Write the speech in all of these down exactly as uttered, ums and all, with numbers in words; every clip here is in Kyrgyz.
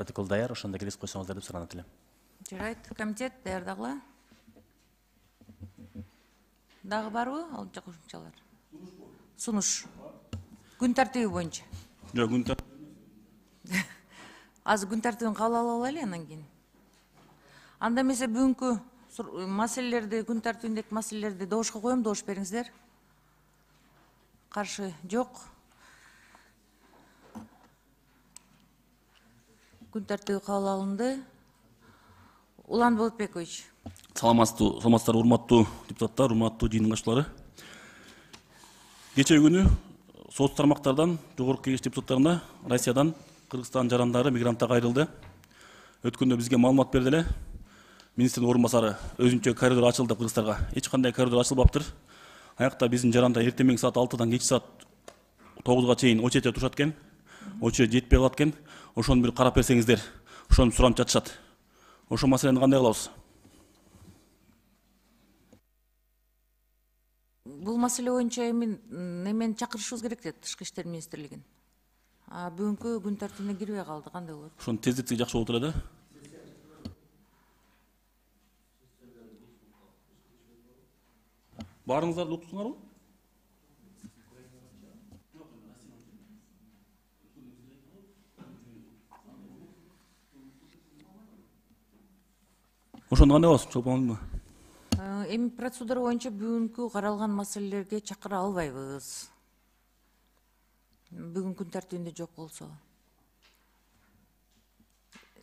протокол даяр, ошондо келип койсоңуздар деп суранат элем. Жарайт, комитет даярдагыла. Дагы барбы ал кошумчалар? Сунуш. Күн тартиби боюнча. Жок, күн тартиби. Азыр күн тартибин кабыл ала алайлы андан кийин. Анда эмесе бүгүнкү маселелерди, күн тартибиндеги маселелерди добушка коем, добуш бериңиздер. Каршы жок. Күн тартиби кабыл алынды. Улан Болотбекович. Саламатсызбы, саламатсыздар урматтуу депутаттар, урматтуу жыйындын катчылары. Кечээ күнү соц тармактардан жогорку кеңеш депутаттарына Россиядан Кыргызстан жарандары мигранттар кайрылды. Өткөндө бизге маалымат берди эле. Министрдин орун басары өзүнчө коридор ачылды Кыргызстанга. Эч кандай коридор ачылбаптыр. Аякта биздин жарандар эртең менен саат алтыдан кечки саат тогузга чейин очередте турушат экен. Очеред жетпей калат экен. Ошону бир карап берсеңиздер. Ошону суранып жатышат. Ошо маселени кандай кылабыз? Бул маселе боюнча эми немени чакырышыбыз керек дейт Тышкы иштер министрлигин. А бүгүнкү күн тартибине кирбей калды, кандай болот? Ошону тездетсек жакшы болот эле да. Баарыңыздарды уктуңарбы? Ошондо кандай болот? Чолпонбу? Эми процедура боюнча бүгүнкү каралган маселелерге чакыра албайбыз. Бүгүн күн тартибинде жок болсо.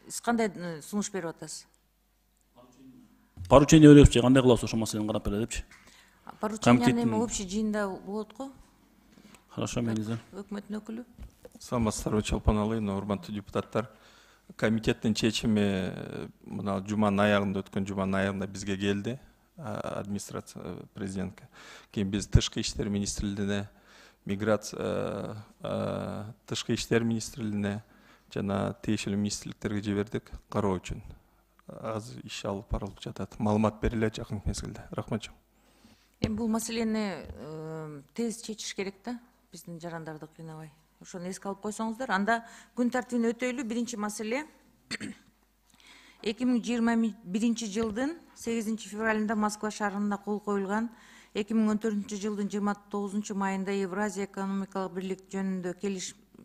Сиз кандай сунуш берип атасыз? Поручение беребиз же кандай кылабыз ошо маселени карап бере депчи. Поручение эми общий жыйында болот го. Хорошо, меңиздер. Өкмөттүн өкүлү. Саламатсыздарбы, Чолпон Алыйын, урматтуу депутаттар. Комитеттин чечими мына жуманын аягында, өткөн жуманын аягында бизге келди. Администрация президентке. Кийин биз Тышкы иштер министрлигине, миграция, Тышкы иштер министрлигине жана тиешелүү министрликтерге жибердик кароо үчүн. Азыр иш алып барылып жатат. Маалымат берилет жакын мезгилде. Рахмат. Эми бул маселени тез чечиш керек да, биздин жарандарды кыйнабай. Ошону эске алып койсоңуздар. Анда күн тартибин өтөйлү. Биринчи маселе эки миң жыйырма биринчи жылдын сегизинчи февралында Москва шаарында кол коюлган эки миң он төртүнчү жылдын жыйырма тогузунчу майында Евразия экономикалык бирлик жөнүндө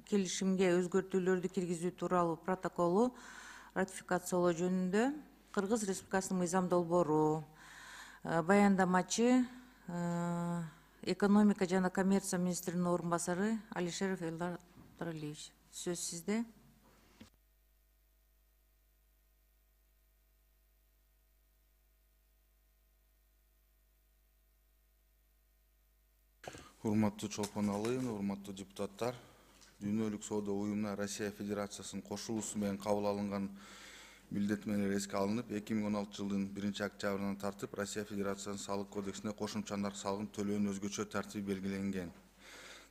келишимге өзгөртүүлөрдү киргизүү тууралуу протоколу ратификациялоо жөнүндө Кыргыз Республикасынын мыйзам долбоору баяндамачы экономика жана коммерция министринин орун басары Алишеров Элдар Туралиевич. Сөз сизде. Урматтуу Чолпон Алыйын, урматтуу депутаттар, Дүйнөлүк соода уюмуна Россия Федерациясынын кошулуусу менен кабыл алынган билдетмелер эске алынып, эки миң он алтынчы жылдын биринчи октябрынан тартып Россия Федерациясынын салык кодексине кошумча нарк салыгын төлөөнүн өзгөчө тартиби белгиленген.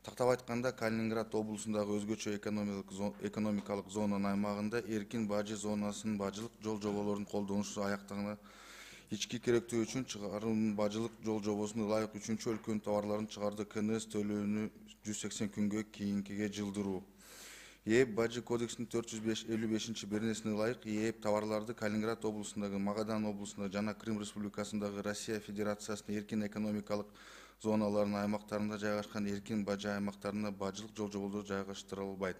Тактап айтканда, Калининград облусундагы өзгөчө экономикалык зонанын аймагында эркин бажы зонасынын бажылык жол жоболорунун колдонушу аяктагына ички керектүү үчүн чыгарылган бажылык жол жобосуна ылайык үчүнчү өлкөнүн товарларын чыгарды КНС төлөөнү жүз сексен күнгө кийинкиге жылдыруу. ЕЭП бажы кодексинин төрт жүз элүү бешинчи беренесине ылайык ЕЭП товарларды Калининград облусундагы, Магадан облусундагы жана Крым Республикасындагы Россия Федерациясынын эркин экономикалык зоналарынын аймактарында жайгашкан эркин бажы аймактарына бажылык жол жоболору жайгаштырылбайт.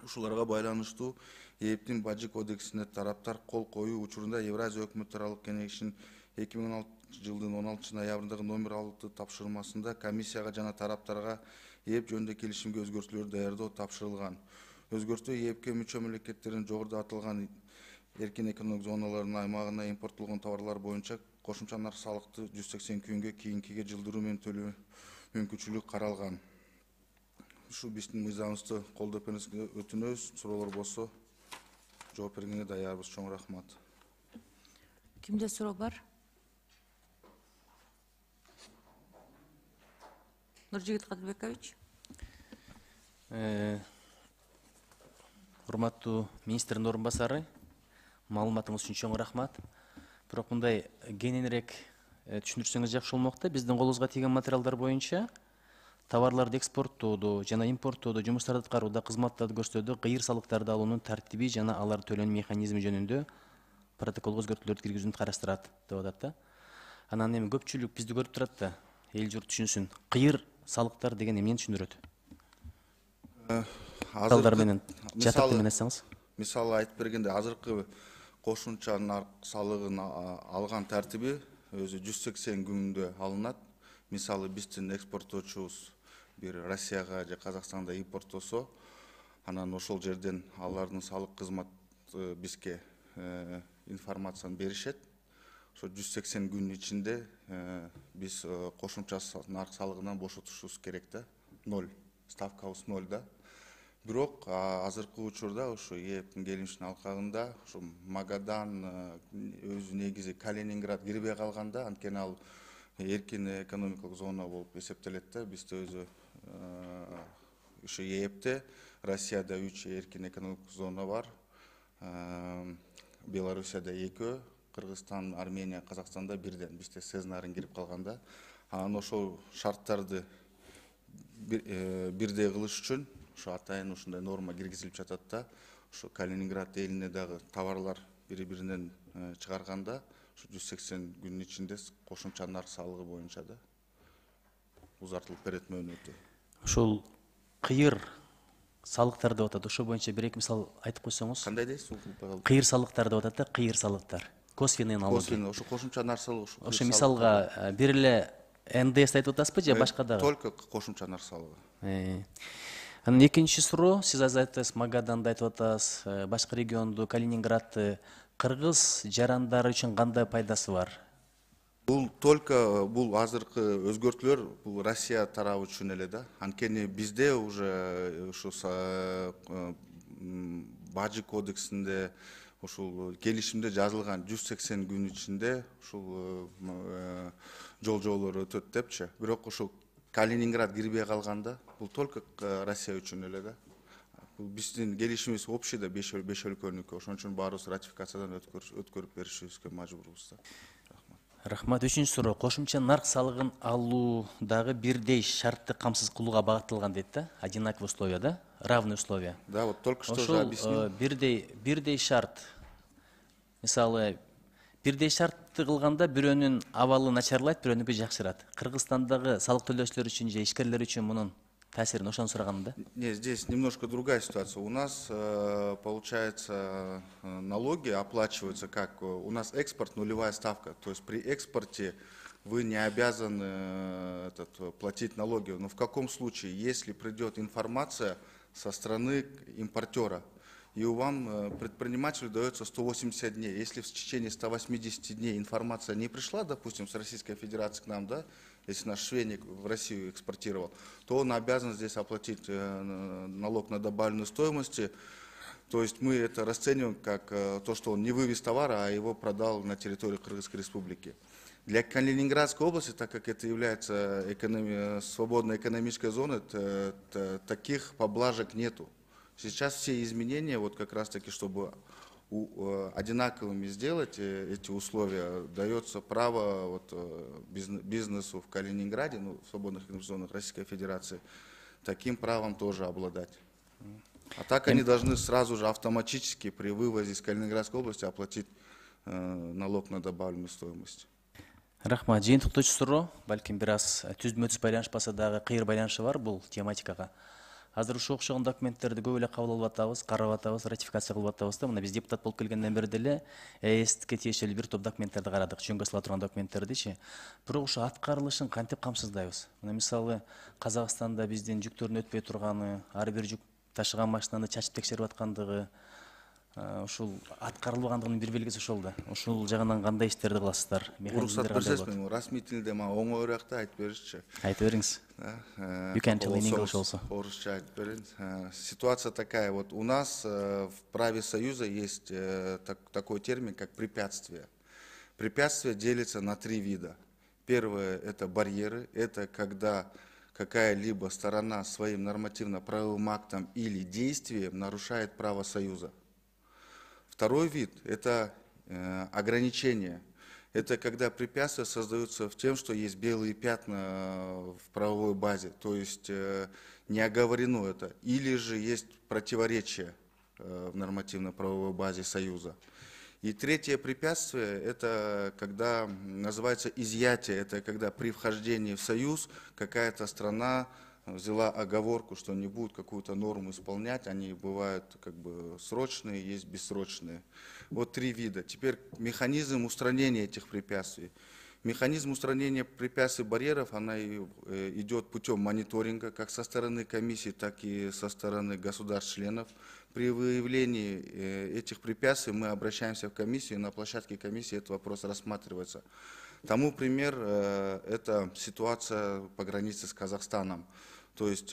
Ушуларга байланыштуу ЕЭПтин бажы кодексине тараптар кол коюу учурунда Евразия өкмөт аралык кеңешинин эки миң он алтынчы жылдын он алтынчы ноябрындагы номер алты тапшырмасында комиссияга жана тараптарга ЕЭП жөнүндө келишимге өзгөртүүлөр даярдоо тапшырылган. Өзгөртүү ЕЭПке мүчө мамлекеттердин жогоруда аталган эркин экономик зоналарынын аймагына импорттолгон товарлар боюнча кошумча нарк салыкты жүз сексен күнгө кийинкиге жылдыруу менен төлөө мүмкүнчүлүгү каралган. Ушу биздин мыйзамыбызды колдоп берүүңүзгө өтүнөбүз. Суроолор болсо жооп бергенге даярбыз. Чоң рахмат. Кимде суроо бар? Нуржигит Кадырбекович. Урматтуу министрдин орун басары, маалыматыңыз үчүн чоң рахмат. Бирок мындай кененирээк түшүндүрсөңүз жакшы болмок да. Биздин колубузга тийген материалдар боюнча товарларды экспорттоодо жана импорттоодо жумуштарды аткарууда, кызматтарды көрсөтүүдө кыйыр салыктарды алуунун тартиби жана алар төлөнүү механизми жөнүндө протоколго өзгөртүүлөрдү киргизүүнү караштырат деп атат да. Анан эми көпчүлүк бизди көрүп турат да, эл журт түшүнсүн. Кыйыр салыктар деген эмнени түшүндүрөт? Мисалдар менен жатып менен айтсаңыз. Мисалы айтып бергенде, азыркы кошумча нарк салыгын алган тартиби өзү жүз сексен күндө алынат. Мисалы биздин экспорттоочубуз бир Россияга же Казакстанда импорттосо, анан ошол жерден алардын салык кызмат бизге информацияны беришет. Ошо жүз сексен күн ичинде биз кошумча нарк салыгынан бошотушубуз керек да. Ноль. Ставкабыз ноль да. Бирок азыркы учурда ошо ээптин келишиминин алкагында ошо Магадан өзү негизи Калининград кирбей калганда, анткени ал эркин экономикалык зона болуп эсептелет да. Бизде өзү ошо ээпте Россияда үч эркин экономикалык зона бар. Белоруссияда экөө, Кыргызстан, Армения, Казакстанда бирден. Бизде сезнарын кирип калганда, анан ошол шарттарды бирдей кылыш үчүн ошо атайын ушундай норма киргизилип жатат да. Ошо Калининград элине дагы товарлар бири-биринен чыгарганда ошо жүз сексен күн ичинде кошумча нарк салыгы боюнча да узартылып берет мөөнөтү. Ошол кыйыр салыктар деп атат. Ошо боюнча бир эки мисал айтып койсоңуз. Кандай дейсиз? Кыйыр салыктар деп атат да, кыйыр салыктар. Косвенный налоги. Ошо кошумча нарк салыгы. Ошо мисалга бир эле эн дэ эс айтып атасызбы же башка дагы? Только кошумча нарк салыгы. Анан экинчи суроо, сиз азыр айтасыз, Магаданды айтып атасыз, башка регионду, Калининградты. Кыргыз жарандары үчүн кандай пайдасы бар? Бул только бул азыркы өзгөртүүлөр бул Россия тарабы үчүн эле да. Анткени бизде уже ушу бажы кодексинде ушул келишимде жазылган жүз сексен күн ичинде ушул жол жоолор өтөт депчи. Бирок ушул Калининград кирбей калганда бул только Россия үчүн эле да. Бул биздин келишимибиз общий да беш өлкөнүкү. Ошон үчүн баарыбыз ратификациядан өткөрүп беришибизге мажбурбуз да. Рахмат. Үчүнчү суроо, кошумча нарк салыгын алуудагы бирдей шартты камсыз кылууга багытталган дейт да, одинаковые условия да, равные условия. Да, вот только что же объяснил. Ошол бирдей бирдей шарт. Мисалы, бирдей шартты кылганда бирөөнүн абалы начарлайт, бирөөнүкү жакшырат. Кыргызстандагы салык төлөөчүлөр үчүн же ишкерлер үчүн мунун таасирин ошону сураганым да. Нет, здесь немножко другая ситуация. У нас, получается, налоги оплачиваются как? У нас экспорт нулевая ставка. То есть при экспорте вы не обязаны этот, платить налоги. Но в каком случае? Если придет информация со стороны импортера, и вам предпринимателю дается сто восемьдесят дней. Если в течение ста восьмидесяти дней информация не пришла, допустим, с Российской Федерации к нам, да, если наш швейник в Россию экспортировал, то он обязан здесь оплатить налог на добавленную стоимость. То есть мы это расцениваем как то, что он не вывез товара, а его продал на территории Кыргызской Республики. Для Калининградской области, так как это является экономи... свободной экономической зоной, таких поблажек нету. Сейчас все изменения, вот как раз таки, чтобы одинаковыми сделать эти условия, дается право вот бизнесу в Калининграде, ну, в свободных зонах Российской Федерации, таким правом тоже обладать. А так они должны сразу же автоматически при вывозе из Калининградской области оплатить э, налог на добавленную стоимость. Рахмат. Жыйынтыктоочу суроо, балким бир аз түздүмө-түз байланышпаса дагы кыйыр байланышы бар бул тематикага. Азыр ушул окшогон документтерди көп эле кабыл алып атабыз, карап атабыз, ратификация кылып атабыз да. Мына биз депутат болуп келгенден бери деле ЭСке тиешелүү бир топ документтерди карадык, жөнгө сала турган документтердичи. Бирок ошо аткарылышын кантип камсыздайбыз? Мына мисалы Казакстанда биздин жүктөрдүн өтпөй турганы, ар бир жүк ташыган машинаны чачып текшерип аткандыгы, ушул аткарылбагандыгынын бир белгиси ошол да. Ушул жагынан кандай иштерди кыласыздар? Уруксат берсеңизби, расмий тилде мага оңоюраак да айтып беришчи. Айтып бериңиз. You can tell in English also. Орусча айтып берейин. Ситуация такая, вот у нас в праве Союза есть такой термин, как препятствие. Препятствие делится на три вида. Первое – это барьеры, это когда какая-либо сторона своим нормативно-правовым актом или действием нарушает право Союза. Второй вид – это э, ограничения. Это когда препятствия создаются в тем, что есть белые пятна в правовой базе, то есть не оговорено это, или же есть противоречия в нормативно-правовой базе Союза. И третье препятствие, это когда называется изъятие, это когда при вхождении в Союз какая-то страна взяла оговорку, что не будут какую-то норму исполнять, они бывают как бы срочные, есть бессрочные. Вот три вида. Теперь механизм устранения этих препятствий. Механизм устранения препятствий, барьеров, она идет путем мониторинга, как со стороны комиссии, так и со стороны государств-членов. При выявлении этих препятствий мы обращаемся в комиссию, и на площадке комиссии этот вопрос рассматривается. Тому пример – это ситуация по границе с Казахстаном. То есть,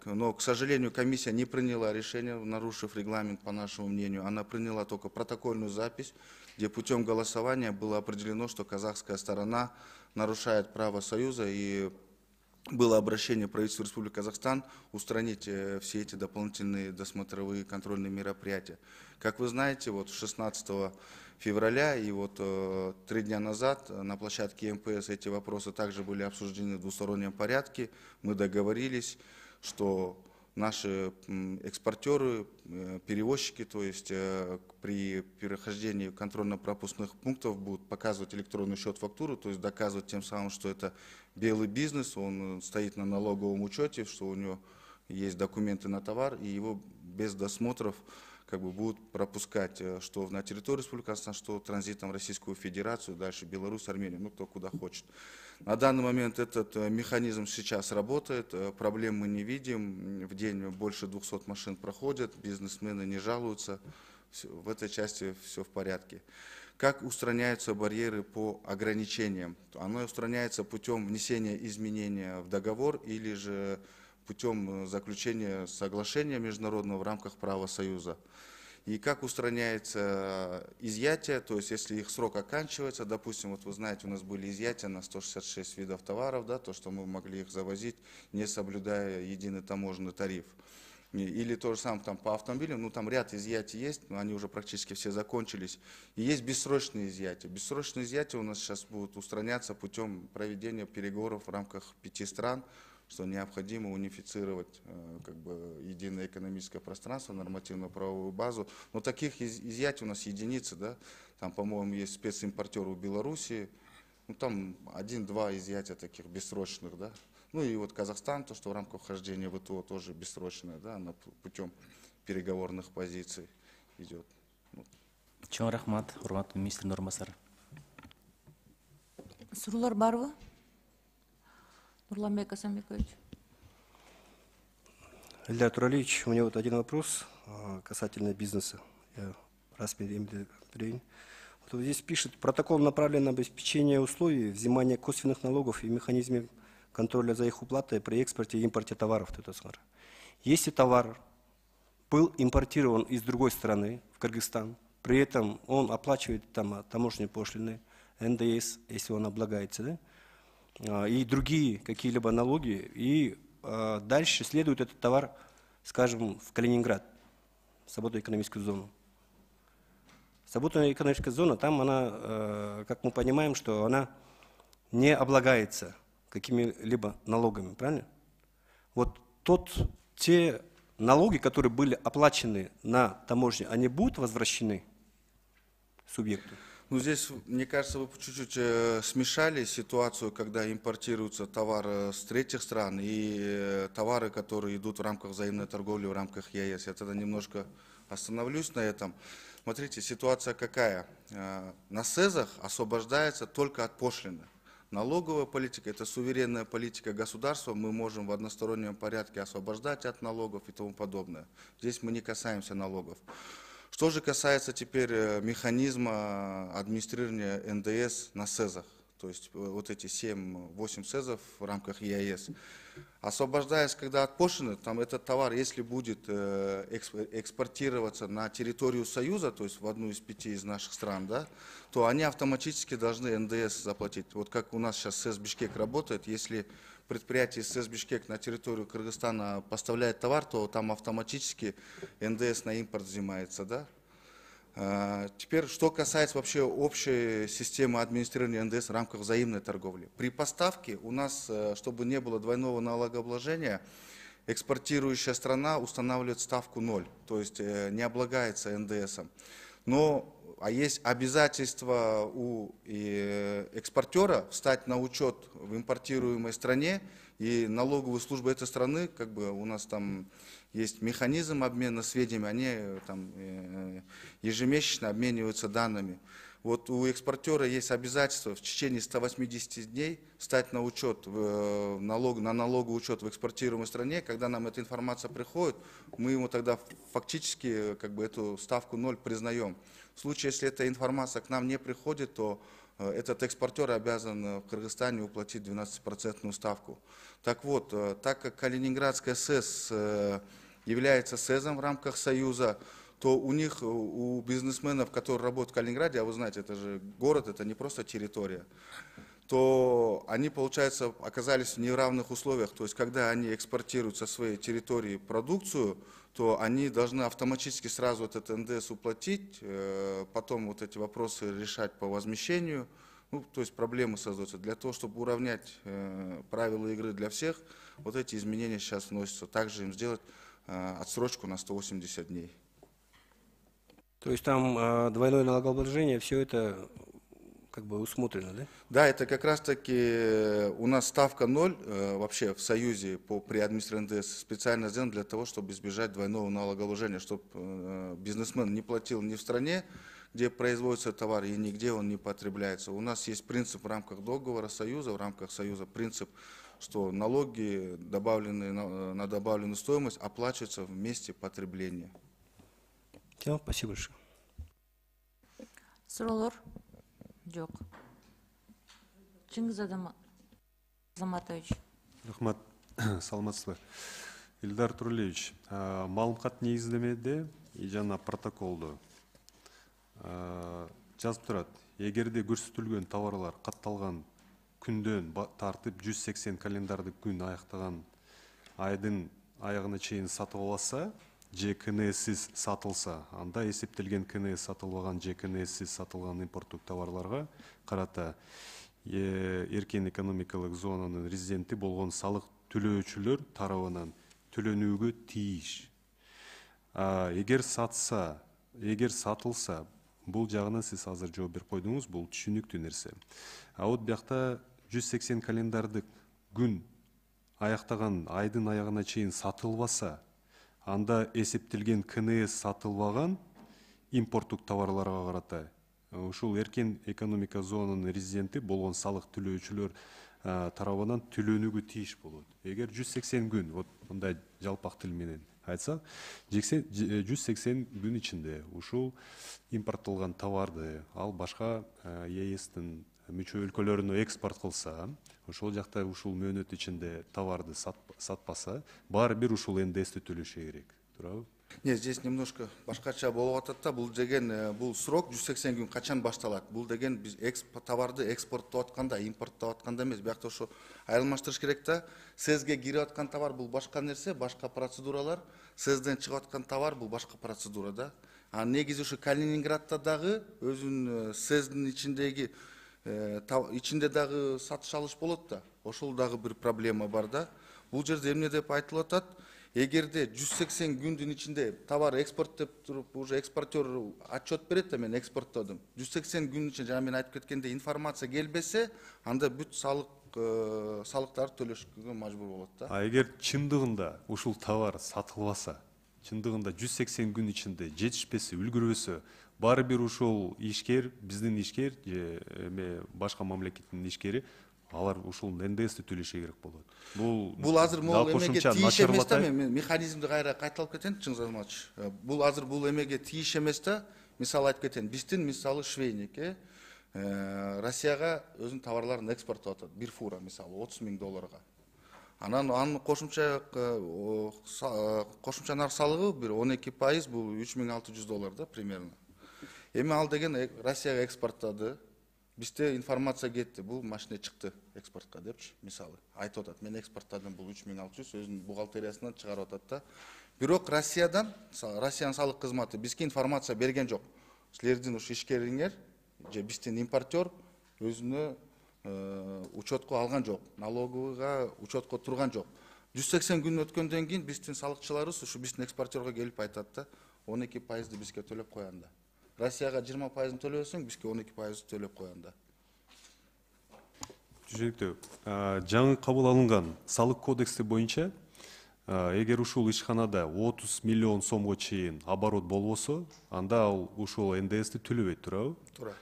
но, к сожалению, комиссия не приняла решение, нарушив регламент, по нашему мнению. Она приняла только протокольную запись, где путем голосования было определено, что казахская сторона нарушает право Союза, и было обращение правительства Республики Казахстан устранить все эти дополнительные досмотровые контрольные мероприятия. Как вы знаете, вот шестнадцатого февраля и вот э, три дня назад на площадке эм пэ эс эти вопросы также были обсуждены в двустороннем порядке. Мы договорились, что наши экспортеры, перевозчики, то есть э, при перехождении контрольно-пропускных пунктов будут показывать электронный счет-фактуру, то есть доказывать тем самым, что это белый бизнес, он стоит на налоговом учете, что у него есть документы на товар, и его без досмотров как бы будут пропускать, что на территорию Республики Казахстан, что транзитом в Российскую Федерацию, дальше Беларусь, Армению, ну кто куда хочет. На данный момент этот механизм сейчас работает, проблем мы не видим, в день больше двухсот машин проходят, бизнесмены не жалуются, в этой части все в порядке. Как устраняются барьеры по ограничениям? Оно устраняется путем внесения изменения в договор или же путем заключения соглашения международного в рамках права Союза. И как устраняется изъятие, то есть если их срок оканчивается, допустим, вот вы знаете, у нас были изъятия на сто шестьдесят шесть видов товаров, да, то, что мы могли их завозить, не соблюдая единый таможенный тариф. Или то же самое там, по автомобилям, ну там ряд изъятий есть, но они уже практически все закончились. И есть бессрочные изъятия. Бессрочные изъятия у нас сейчас будут устраняться путем проведения переговоров в рамках пяти стран, что необходимо унифицировать как бы единое экономическое пространство, нормативно-правовую базу. Но таких изъятий у нас единицы, да. Там, по-моему, есть специмпортер у Белоруссии, ну там один-два изъятия таких бессрочных, да. Ну и вот Казахстан, то, что в рамках вхождения в ВТО тоже бессрочное, да, она путем переговорных позиций идет. Чоң рахмат, урматтуу министрдин орун басары. Суроолор барбы? Нурланбек Асанбекович. Ильдар Туралиевич, у меня вот один вопрос касательно бизнеса. Я рассмотрю. Вот здесь пишет, протокол направлен на обеспечение условий взимания косвенных налогов и механизме контроля за их уплатой при экспорте и импорте товаров. Если товар был импортирован из другой страны, в Кыргызстан, при этом он оплачивает там таможенные пошлины, эн дэ эс, если он облагается, да, и другие какие-либо налоги, и э, дальше следует этот товар, скажем, в Калининград, свободную экономическую зону. Свободная экономическая зона, там она, э, как мы понимаем, что она не облагается какими-либо налогами, правильно? Вот тот, те налоги, которые были оплачены на таможне, они будут возвращены субъекту? Ну, здесь, мне кажется, вы чуть-чуть э, смешали ситуацию, когда импортируется товар с третьих стран и э, товары, которые идут в рамках взаимной торговли, в рамках е а эс. Я тогда немножко остановлюсь на этом. Смотрите, ситуация какая? Э, на СЭЗах освобождается только от пошлины. Налоговая политика – это суверенная политика государства, мы можем в одностороннем порядке освобождать от налогов и тому подобное. Здесь мы не касаемся налогов. Что же касается теперь механизма администрирования эн дэ эс на СЭЗах, то есть вот эти семь-восемь СЭЗов в рамках е а эс, освобождаясь когда от пошлины, там этот товар, если будет экспортироваться на территорию Союза, то есть в одну из пяти из наших стран, да, то они автоматически должны эн дэ эс заплатить. Вот как у нас сейчас СЭЗ Бишкек работает, если предприятие СЭЗ Бишкек на территорию Кыргызстана поставляет товар, то там автоматически эн дэ эс на импорт взимается, да. Теперь, что касается вообще общей системы администрирования эн дэ эс в рамках взаимной торговли. При поставке у нас, чтобы не было двойного налогообложения, экспортирующая страна устанавливает ставку ноль, то есть не облагается эн дэ эсом. Но а есть обязательство у экспортера встать на учет в импортируемой стране, и налоговые службы этой страны, как бы у нас там есть механизм обмена сведениями, они там ежемесячно обмениваются данными. Вот у экспортера есть обязательство в течение ста восьмидесяти дней стать на учет, в налог, на налоговый учет в экспортируемой стране. Когда нам эта информация приходит, мы ему тогда фактически как бы эту ставку ноль признаем. В случае, если эта информация к нам не приходит, то этот экспортер обязан в Кыргызстане уплатить двенадцатипроцентную ставку. Так вот, так как Калининградская СЭС является СЭЗом в рамках Союза, то у них, у бизнесменов, которые работают в Калининграде, а вы знаете, это же город, это не просто территория, то они, получается, оказались в неравных условиях. То есть, когда они экспортируют со своей территории продукцию, то они должны автоматически сразу этот эн дэ эс уплатить, потом вот эти вопросы решать по возмещению. Ну, то есть проблемы создаются. Для того, чтобы уравнять правила игры для всех, вот эти изменения сейчас вносятся. Также им сделать отсрочку на сто восемьдесят дней. То есть там э, двойное налогообложение, все это как бы усмотрено, да? Да, это как раз таки у нас ставка ноль э, вообще в Союзе по, при администрировании эн дэ эс специально сделана для того, чтобы избежать двойного налогообложения, чтобы э, бизнесмен не платил ни в стране, где производится товар, и нигде он не потребляется. У нас есть принцип в рамках договора Союза, в рамках Союза принцип, что налоги, добавленные на, на добавленную стоимость, оплачиваются в месте потребления. Все, спасибо большое. Суроолор жок. Чыңгыз Азаматович. Рахмат, саламатсызбы. Илдар Турулевич, маалымат негиздемеде жана протоколдо жазып турат. Эгерде көрсөтүлгөн товарлар катталган күндөн тартып жүз сексен календардык күн аяктаган айдын аягына чейин сатып алса, же ка эн эссиз сатылса, анда эсептелген ка эн эс сатылбаган же ка эн эссиз сатылган импорттук товарларга карата эркен экономикалык зонанын резиденти болгон салык төлөөчүлөр тарабынан төлөнүүгө тийиш. Эгер сатса, эгер сатылса, бул жагынан сиз азыр жооп берип койдуңуз, бул түшүнүктүү нерсе. А вот биякта жүз сексен календардык күн аяктаган айдын аягына чейин сатылбаса, анда эсептелген ка эн эс сатылбаган импорттук товарларга карата ушул эркен экономика зонанын резиденти болгон салык төлөөчүлөр тарабынан төлөнүүгө тийиш болот. Эгер жүз сексен күн, вот мындай жалпак тил менен айтсак, жүз сексен күн ичинде ушул импорттолгон товарды ал башка е эстин мүчө өлкөлөрүнө экспорт кылса, ошол жакта ушул мөөнөт ичинде товарды сатпаса, баары бир ушул эн дэ эсти төлөшү керек. Туурабы? Нет, здесь немножко башкача болуп атат да, бул деген бул срок жүз сексен күн качан башталат? Бул деген биз товарды экспорттоп атканда, импорттоп атканда эмес. Биякта ошо айырмаштырыш керек да. СЭЗге кирип аткан товар бул башка нерсе, башка процедуралар. СЭЗден чыгып аткан товар бул башка процедура да. А негизи ушу Калининградта дагы өзүнүн СЭЗдин ичиндеги ичинде дагы сатыш алыш болот да. Ошол дагы бир проблема бар да. Бул жерде эмне деп айтылып атат? Эгерде жүз сексен күндүн ичинде товар экспорт деп туруп, уже экспортер отчет берет да, мен экспорттодум. жүз сексен күн ичинде, жана мен айтып кеткендей, информация келбесе, анда бүт салык салыктарды төлөшкө мажбур болот да. А эгер чындыгында ушул товар сатылбаса, чындыгында жүз сексен күн ичинде жетишпесе, үлгүрбөсө, баары бир ушул ишкер, биздин ишкер же эме башка мамлекеттин ишкери алар ушул эн дэ эсти төлөшү керек болот. Бул бул азыр могул эмеге тийиш эмес да, мен механизмди кайра кайталап кетейин, Чыңгыз Азаматович. Бул азыр бул эмеге тийиш эмес да. Мисалы айтып кетейин, биздин мисалы швейник Россияга өзүнүн товарларын экспорттоп атат. Бир фура мисалы отуз миң долларга. Анан анын кошумча кошумча нарк салыгы бир он эки пайыз, бул үч миң алты жүз доллар да примерно. Эми ал деген Россияга экспорттоду. Бизде информация кетти, бул машина чыкты экспортко депчи, мисалы. Айтып атат, мен экспорттадым, бул үч миң алты жүз, өзүнүн бухгалтериясынан чыгарып атат да. Бирок Россиядан, Россиянын салык кызматы бизге информация берген жок. силердин ушу ишкериңер же биздин импортер өзүнө учетко алган жок, налоговыйга учетко турган жок. жүз сексен күн өткөндөн кийин биздин салыкчыларыбыз ушу биздин экспортерго келип айтат да, он эки пайызды бизге төлөп коян да. Россияга жыйырма пайызын төлөсөң, бизге он эки пайызды төлөп коян да. Түшүнүктүү. Жаңы кабыл алынган салык кодекси боюнча эгер ушул ишканада отуз миллион сомго чейин оборот болбосо, анда ал ушул эн дэ эсти төлөбөйт, туурабы? Туура.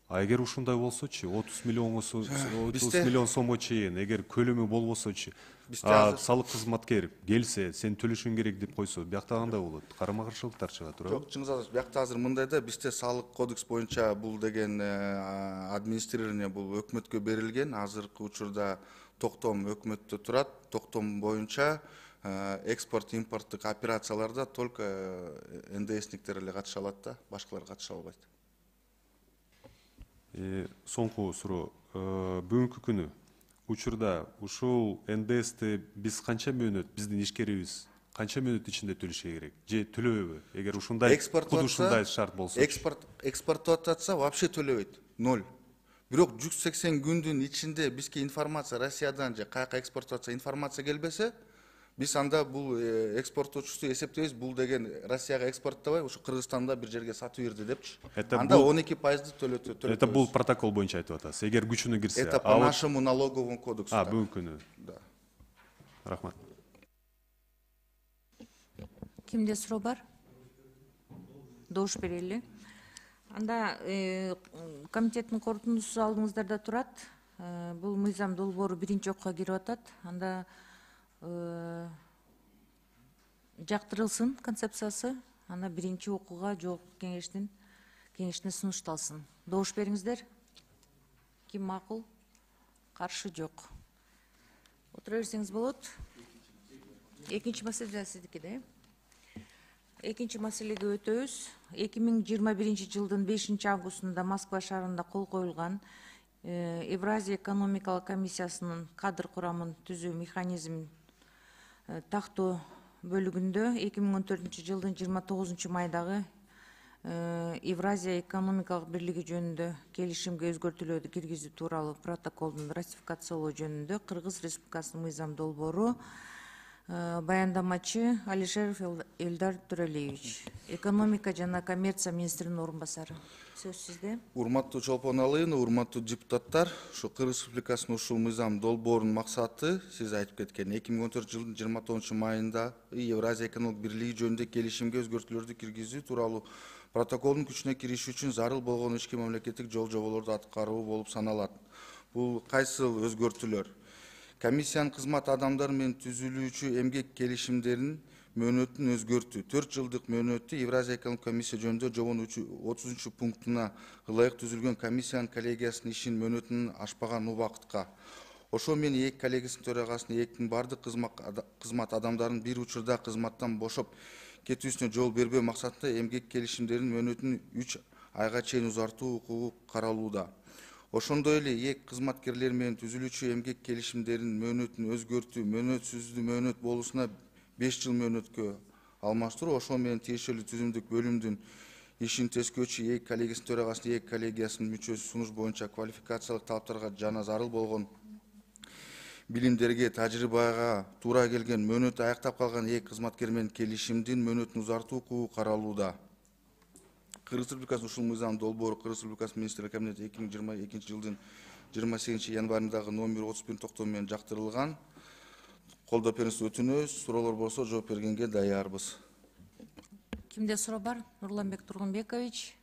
А эгер ушундай болсочу, отуз миллионго отуз миллион сомго чейин эгер көлөмү болбосочу, салык кызматкер келсе, сен төлөшүң керек деп койсо, биякта кандай болот? Карама-каршылыктар чыгат, туурабы? Жок, чыңгыз азыр биякта азыр мындай да, бизде салык кодекс боюнча бул деген администрирование бул өкмөткө берилген. Азыркы учурда токтом өкмөттө турат. Токтом боюнча экспорт импорттук операцияларда только эн дэ эсниктер эле катыша алат да, башкалар катыша албайт. Соңку суроо. Бүгүнкү күнү учурда ушул эн дэ эсти биз канча мөөнөт, биздин ишкерибиз канча мөөнөт ичинде төлөшү керек? Же төлөбөйбү? Эгер ушундай куд ушундай шарт болсо. Экспорт экспорттоп атса вообще төлөбөйт. Ноль. Бирок жүз сексен күндүн ичинде бизге информация Россиядан же каяка экспорттоп атса информация келбесе, биз анда бул экспорттоочусу эсептейбиз, бул деген Россияга экспорттобой, ушу Кыргызстанда бир жерге сатып берди депчи. Анда он эки пайызды төлөтөбүз. Это бул протокол боюнча айтып атасыз. Эгер күчүнө кирсе. Это по нашему налоговому кодексу. А, бүгүнкү күнү. Да. Рахмат. Кимде суроо бар? Добуш берели. Анда комитеттин корутундусу алдыңыздарда турат. Бул мыйзам долбоору биринчи окууга кирип атат. Анда жактырылсын концепциясы, ана биринчи окууга жогорку кеңештин кеңешине сунушталсын. Добуш бериңиздер. Ким макул? Каршы жок. Отура берсеңиз болот. Экинчи маселе сиздики да. Экинчи маселеге өтөбүз. эки миң жыйырма биринчи жылдын бешинчи августунда Москва шаарында кол коюлган Евразия экономикалык комиссиясынын кадр курамын түзүү механизмин тактоо бөлүгүндө эки миң он төртүнчү жылдын жыйырма тогузунчу майдагы Евразия экономикалык бирлиги жөнүндө келишимге өзгөртүүлөрдү киргизүү тууралуу протоколдун ратификациялоо жөнүндө Кыргыз Республикасынын мыйзам долбоору баяндамачы Алишеров Элдар Төрөлиевич, экономика жана коммерция министринин орун басары. Сөз сизде. Урматтуу Чолпон Алыйына, урматтуу депутаттар, ушу Кыргыз Республикасынын ушул мыйзам долбоорунун максаты сиз айтып кеткен эки миң он төртүнчү жылдын жыйырма тогузунчу майында Евразия экономикалык бирлиги жөнүндө келишимге өзгөртүүлөрдү киргизүү тууралуу протоколдун күчүнө кириши үчүн зарыл болгон ички мамлекеттик жол жоболорду аткаруу болуп саналат. Бул кайсыл өзгөртүүлөр? Комиссиянын кызмат адамдары менен түзүлүүчү эмгек келишимдеринин мөөнөтүн өзгөртүү. төрт жылдык мөөнөттү Евразия экономикалык комиссия жөнүндө жобонун отузунчу пунктуна ылайык түзүлгөн комиссиянын коллегиясынын ишин мөөнөтүнүн ашпаган убакытка. Ошо менен эки коллегиясынын төрагасынын эктин бардык кызмат адамдарынын бир учурда кызматтан бошоп кетүүсүнө жол бербөө максатында эмгек келишимдеринин мөөнөтүн үч айга чейин узартуу укугу каралууда. Ошондой эле эки кызматкерлер менен түзүлүүчү эмгек келишимдеринин мөөнөтүн өзгөртүү, мөөнөтсүздүү мөөнөт болуусуна беш жыл мөөнөткө алмаштыруу, ошо менен тиешелүү түзүмдүк бөлүмдүн ишин тескөөчү эки коллегиясынын төрагасынын эки коллегиясынын мүчөсү сунуш боюнча квалификациялык талаптарга жана зарыл болгон билимдерге, тажрыйбага туура келген мөөнөтү аяктап калган эки кызматкер менен келишимдин мөөнөтүн узартуу укугу каралууда. Кыргыз Республикасынын ушул мыйзам долбоору Кыргыз Республикасынын министрлер кабинети эки миң жыйырма экинчи жылдын жыйырма сегизинчи январындагы номер отуз бир токтом менен жактырылган. Колдоп берүүңүздү өтүнөбүз. Суроолор болсо жооп бергенге даярбыз. Кимде суроо бар? Нурланбек Тургунбекович.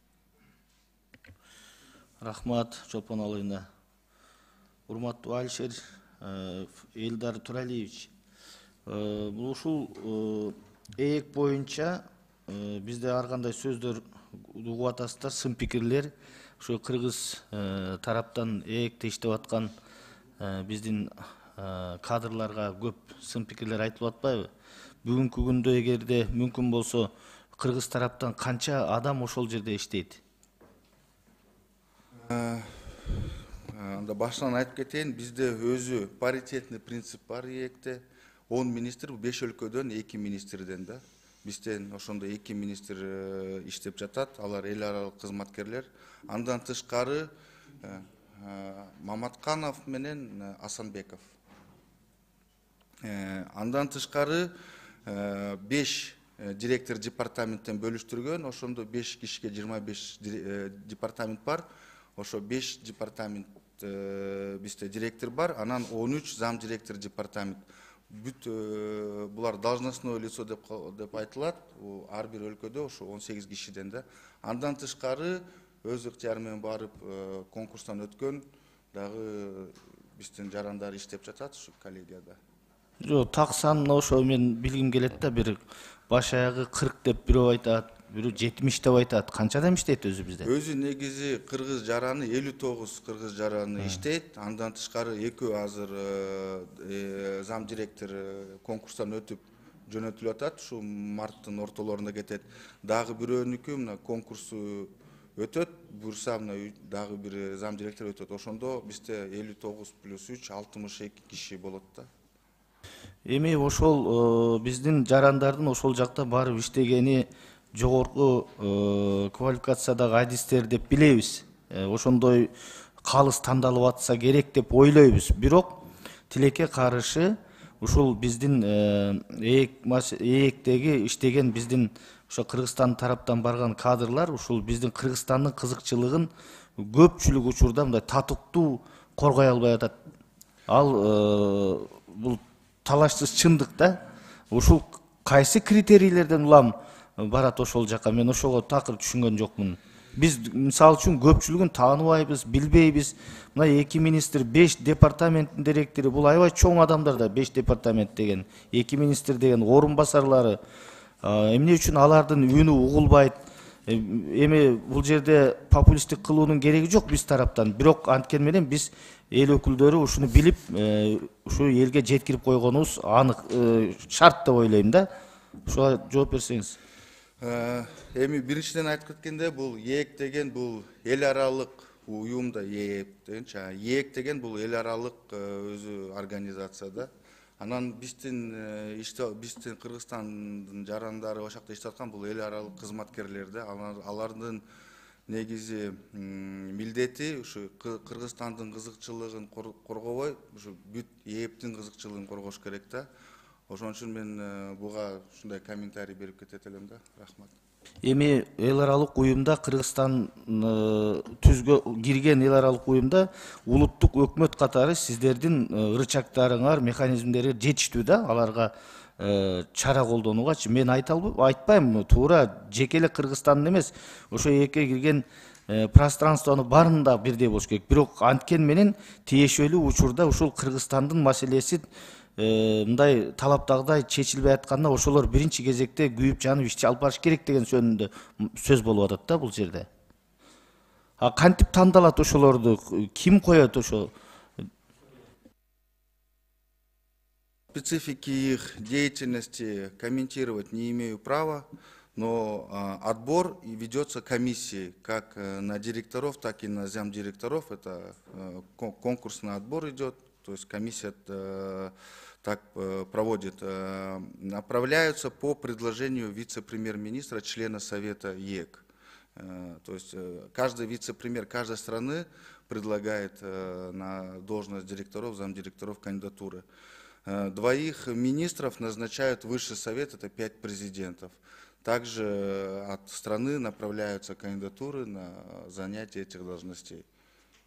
Рахмат, Чолпон Алыйына. Урматтуу Алишер Элдар Туралиевич. Бул ушул ээк боюнча бизде ар кандай сөздөр угуп атасыздар, сын пикирлер. Ошо кыргыз тараптан ээкте иштеп аткан биздин кадрларга көп сын пикирлер айтылып атпайбы? Бүгүнкү күндө эгерде мүмкүн болсо кыргыз тараптан канча адам ошол жерде иштейт? Анда башынан айтып кетейин, бизде өзү паритетный принцип бар ээкте. он министр, беш өлкөдөн эки министрден да. бизден ошондо эки министр иштеп жатат, алар эл аралык кызматкерлер. Андан тышкары Маматканов менен Асанбеков. Андан тышкары беш директор департаменттен бөлүштүргөн, ошондо беш кишиге жыйырма беш департамент бар. Ошо беш департамент бизде директор бар, анан он үч зам директор департамент. Бүт булар должностное лицо деп деп айтылат. Ар бир өлкөдө ошо он сегиз кишиден да. Андан тышкары өз ыктыяры менен барып конкурстан өткөн дагы биздин жарандар иштеп жатат ушу коллегияда. Жок, так санын ошо мен билгим келет да, бир баш аягы кырк деп бирөө айтат, бирөө жетимиш деп айтат. Канча адам иштейт өзү бизде? Өзү негизи кыргыз жараны элүү тогуз кыргыз жараны иштейт. Андан тышкары экөө азыр зам директор конкурстан өтүп жөнөтүлүп атат. Ушу марттын ортолорунда кетет. Дагы бирөөнүкү мына конкурсу өтөт. Буюрса мына дагы бир зам директор өтөт. Ошондо бизде элүү тогуз плюс үч алтымыш эки киши болот да. Эми ошол биздин жарандардын ошол жакта барып иштегени жогорку квалификациядагы адистер деп билебиз. Ошондой калыс тандалып атса керек деп ойлойбуз. Бирок тилекке каршы ушул биздин ээктеги иштеген биздин ошо Кыргызстан тараптан барган кадрлар ушул биздин Кыргызстандын кызыкчылыгын көпчүлүк учурда мындай татыктуу коргой албай атат. Ал бул талашсыз чындык да. Ушул кайсы критерийлерден улам барат ошол жака? Мен ошого такыр түшүнгөн жокмун. Биз мисалы үчүн көпчүлүгүн тааныбайбыз, билбейбиз. Мына эки министр, беш департаменттин директори, бул аябай чоң адамдар да, беш департамент деген, эки министр деген, орун басарлары. Эмне үчүн алардын үнү угулбайт? Эми бул жерде популисттик кылуунун кереги жок биз тараптан. Бирок анткени менен биз эл өкүлдөрү ушуну билип, ушу элге жеткирип койгонубуз анык, шарт деп ойлойм да. Ушуга жооп берсеңиз. Эми биринчиден айтып кеткенде, бул ээк деген бул эл аралык уюмда, ээп дегенчи, ээк деген бул эл аралык өзү организация да. Анан биздин биздин Кыргызстандын жарандары ошакта иштеп аткан бул эл аралык кызматкерлер да. Алардын негизи милдети ушу Кыргызстандын кызыкчылыгын коргобой, ушу бүт ээптин кызыкчылыгын коргош керек да. Ошон үчүн мен буга ушундай комментарий берип кетет элем да. Рахмат. Эми эл аралык уюмда, Кыргызстан түзгө кирген эл аралык уюмда улуттук өкмөт катары сиздердин рычагдарыңар, механизмдери жетиштүү да, аларга чара колдонуугачы. Мен айта айтпайм, туура жеке эле Кыргызстандын эмес, ошо эки кирген пространствонун баарында бирдей болуш керек. Бирок анткени менен тиешелүү учурда ушул Кыргызстандын маселеси мындай талаптагыдай чечилбей атканда ошолор биринчи кезекте күйүп жанып ишти алып барыш керек деген жөнүндө сөз болуп атат да бул жерде. А кантип тандалат ошолорду, ким коет ошо? Специфики их деятельности комментировать не имею права, но отбор ведется комиссией, как на директоров, так и на замдиректоров. Это конкурсный отбор идет, то есть комиссия так проводит. Направляются по предложению вице-премьер-министра, члена Совета ЕЭК. То есть каждый вице-премьер каждой страны предлагает на должность директоров, замдиректоров кандидатуры. Двоих министров назначают Высший совет, это пять президентов. Также от страны направляются кандидатуры на занятие этих должностей.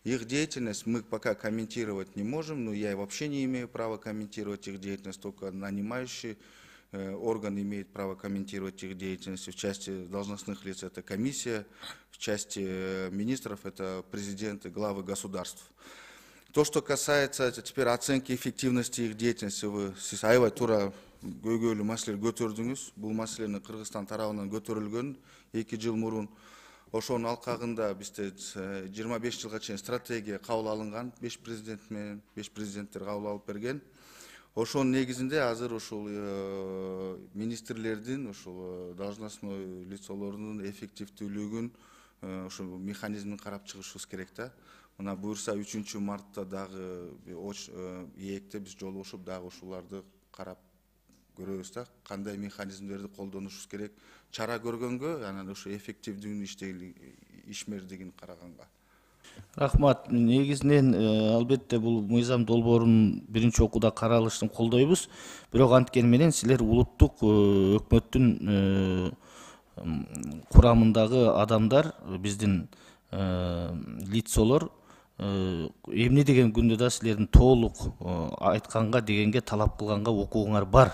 Их деятельность мы пока комментировать не можем, но я вообще не имею права комментировать их деятельность, только нанимающий орган имеет право комментировать их деятельность. В части должностных лиц это комиссия, в части министров это президенты, главы государств. То, что касается теперь оценки эффективности их деятельности, вы аябай туура көйгөйлүү маселе көтөрдүңүз. Бул маселени Кыргызстан тарабынан көтөрүлгөн эки жыл мурун. Ошонун алкагында бизде жыйырма беш жылга чейин стратегия кабыл алынган, беш президент менен беш президенттер кабыл алып берген. Ошонун негизинде азыр ушул министрлердин, ушул должностной лицолордун эффективдүүлүгүн, ушул механизмин карап чыгышыбыз керек да. Мына буюрса үчүнчү мартта дагы ээкте биз жолугушуп, дагы ушуларды карап көрөбүз да, кандай механизмдерди колдонушубуз керек, чара көргөнгө, анан ошо эффективдүүнү ишмердигин караганга. Рахмат. Негизинен албетте бул мыйзам долбоорун биринчи окууда каралышын колдойбуз. Бирок анткени менен силер улуттук өкмөттүн курамындагы адамдар, биздин лицолор эмне деген күндө да силердин толук айтканга дегенге талап кылганга укугуңар бар.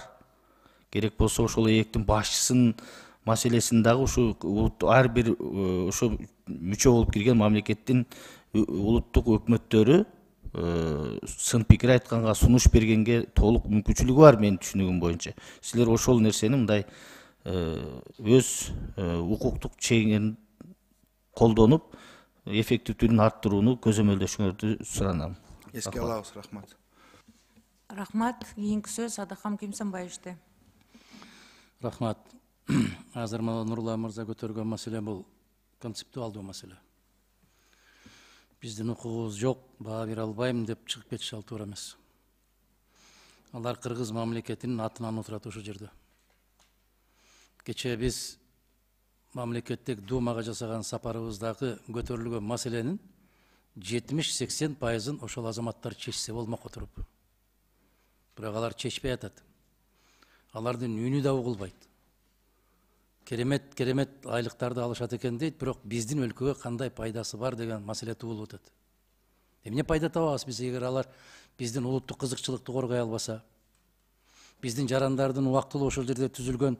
Керек болсо ошол ээктин башчысынын маселесин дагы ушу ар бир ошо мүчө болуп кирген мамлекеттин улуттук өкмөттөрү сын пикир айтканга, сунуш бергенге толук мүмкүнчүлүгү бар менин түшүнүгүм боюнча. Силер ошол нерсени мындай өз укуктук чегиңерин колдонуп, эффективдүүлүгүн арттырууну көзөмөлдөшүңөрдү суранам. Эске алабыз, рахмат. Рахмат. Кийинки сөз Адахам Кимсанбаевичте. Рахмат. Азыр мына Нурлан мырза көтөргөн маселе бул концептуалдуу маселе. Биздин укугубуз жок, баа бере албайм деп чыгып кетиши ал туура эмес. Алар кыргыз мамлекетинин атынан отурат ошол жерде. Кечээ биз мамлекеттик думага жасаган сапарыбыздагы көтөрүлгөн маселенин жетимиш сексен пайызын ошол азаматтар чечсе болмок отуруп. Бирок алар чечпей атат. Алардын үнү да угулбайт. Керемет керемет айлыктарды алышат экен дейт, бирок биздин өлкөгө кандай пайдасы бар деген маселе туулуп атат. Эмне пайда табабыз биз эгер алар биздин улуттук кызыкчылыкты коргой албаса, биздин жарандардын убактылуу ошол жерде түзүлгөн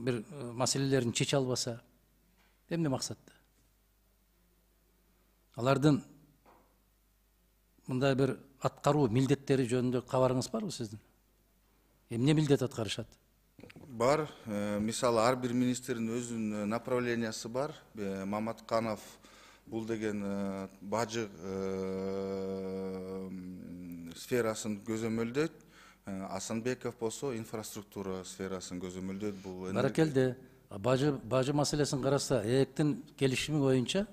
бир маселелерин чече албаса, эмне максатта? Алардын мындай бир аткаруу милдеттери жөнүндө кабарыңыз барбы сиздин? Эмне милдет аткарышат? Бар, мисалы ар бир министрдин өзүнүн направлениясы бар. Маматканов бул деген бажы сферасын көзөмөлдөйт. Асанбеков болсо инфраструктура сферасын көзөмөлдөйт. Бул Баракелде, бажы бажы маселесин караса, ээктин келишими боюнча